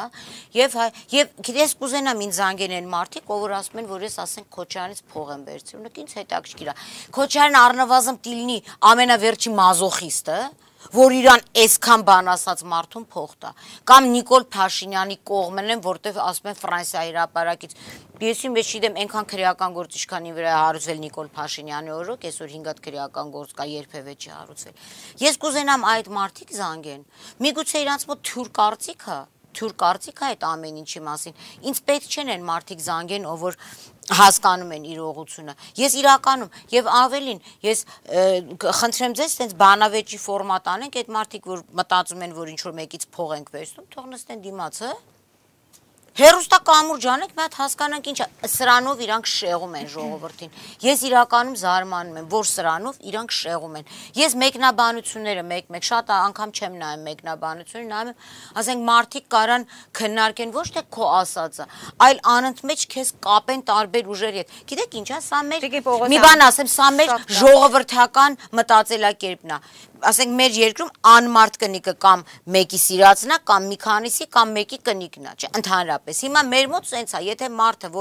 եւ եւ ես կուզենամ ինձ զանգեն են մարդիկ, ով ասում են, որ ես ասենք Քոչարյանից փող եմ վերցրում, ինձ հետաքրքիր է։ Քոչարյանն առնվազն տիլնի ամենավերջի մազոխիստը, որ իրան այսքան բան ասած մարդուն փող տա, կամ Նիկոլ Փաշինյանի կողմն են, որտեղ ասում են Ֆրանսիայի հրապարակից։ Ես իմ մեջ չգիտեմ, այնքան քրեական գործ ինչքանի վրա է հարուցվել Նիկոլ Փաշինյանի օրոք, այսօր հինգ հատ քրեական գործ կա, երբևէ չի հարուցվել։ Ես կուզենամ այդ մարդիկ զանգեն։ Միգուցե իրանց մոտ թյուր կարծիք է, թյուր կարծիք է այդ ամեն ինչի մասին։ Ինձ պետք չեն են մարդիկ զանգեն, ով որ հասկանում են իրողությունը։ Ես իրականում եւ ավելին, ես խնդրեմ ձեզ, տենց բանավեճի ֆորմատ անենք, այդ մարդիկ, որ մտածում են, որ ինչ որ մեկից փող ենք վերցնում, թող նստեն դիմաց, հա։ Հերոստա կամուրջ անենք, մի հատ հասկանանք ինչ է, սրանով իրանք շեղում են ժողովրդին։ Ես իրականում զարմանում եմ, որ սրանով իրանք շեղում են։ Ես մեկնաբանությունները մեկ-մեկ շատ անգամ չեմ նայում մեկնաբանությունները, նայում եմ, ասենք մարդիկ կարան քննարկեն ոչ թե քո ասածը, այլ անընդմեջ քեզ կապեն տարբեր ուժերի հետ։ Գիտեք ինչ է, սա մեր մի բան ասեմ, սա մեր ժողովրդական մտածելակերպն է։ Ասենք մեր երկրում անմարդ կնիկը կամ մեկի սիրածնա, կամ մի քանիսի, կամ մեկի կնիկն է, չէ, ընդհանրապես։ Հիմա մեր մոտ սենց է, եթե մարդը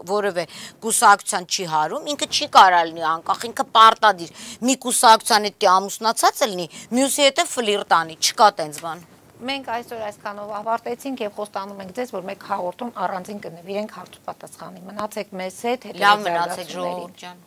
որևէ կուսակցության չի հարում, ինքը չի կարա լինի անկախ, ինքը պարտադիր մի կուսակցության հետ ամուսնացած լինի, մյուսի հետ ֆլիրտ անի, չկա տենց բան։ Մենք այսօր այսքանով ավարտեցինք եւ խոստանում ենք ձեզ, որ մեկ հաղորդում առանձին կնվիրենք հարց ու պատասխանի։ Մնացեք մեզ հետ, լավ մնացեք ժողովուրդ ջան։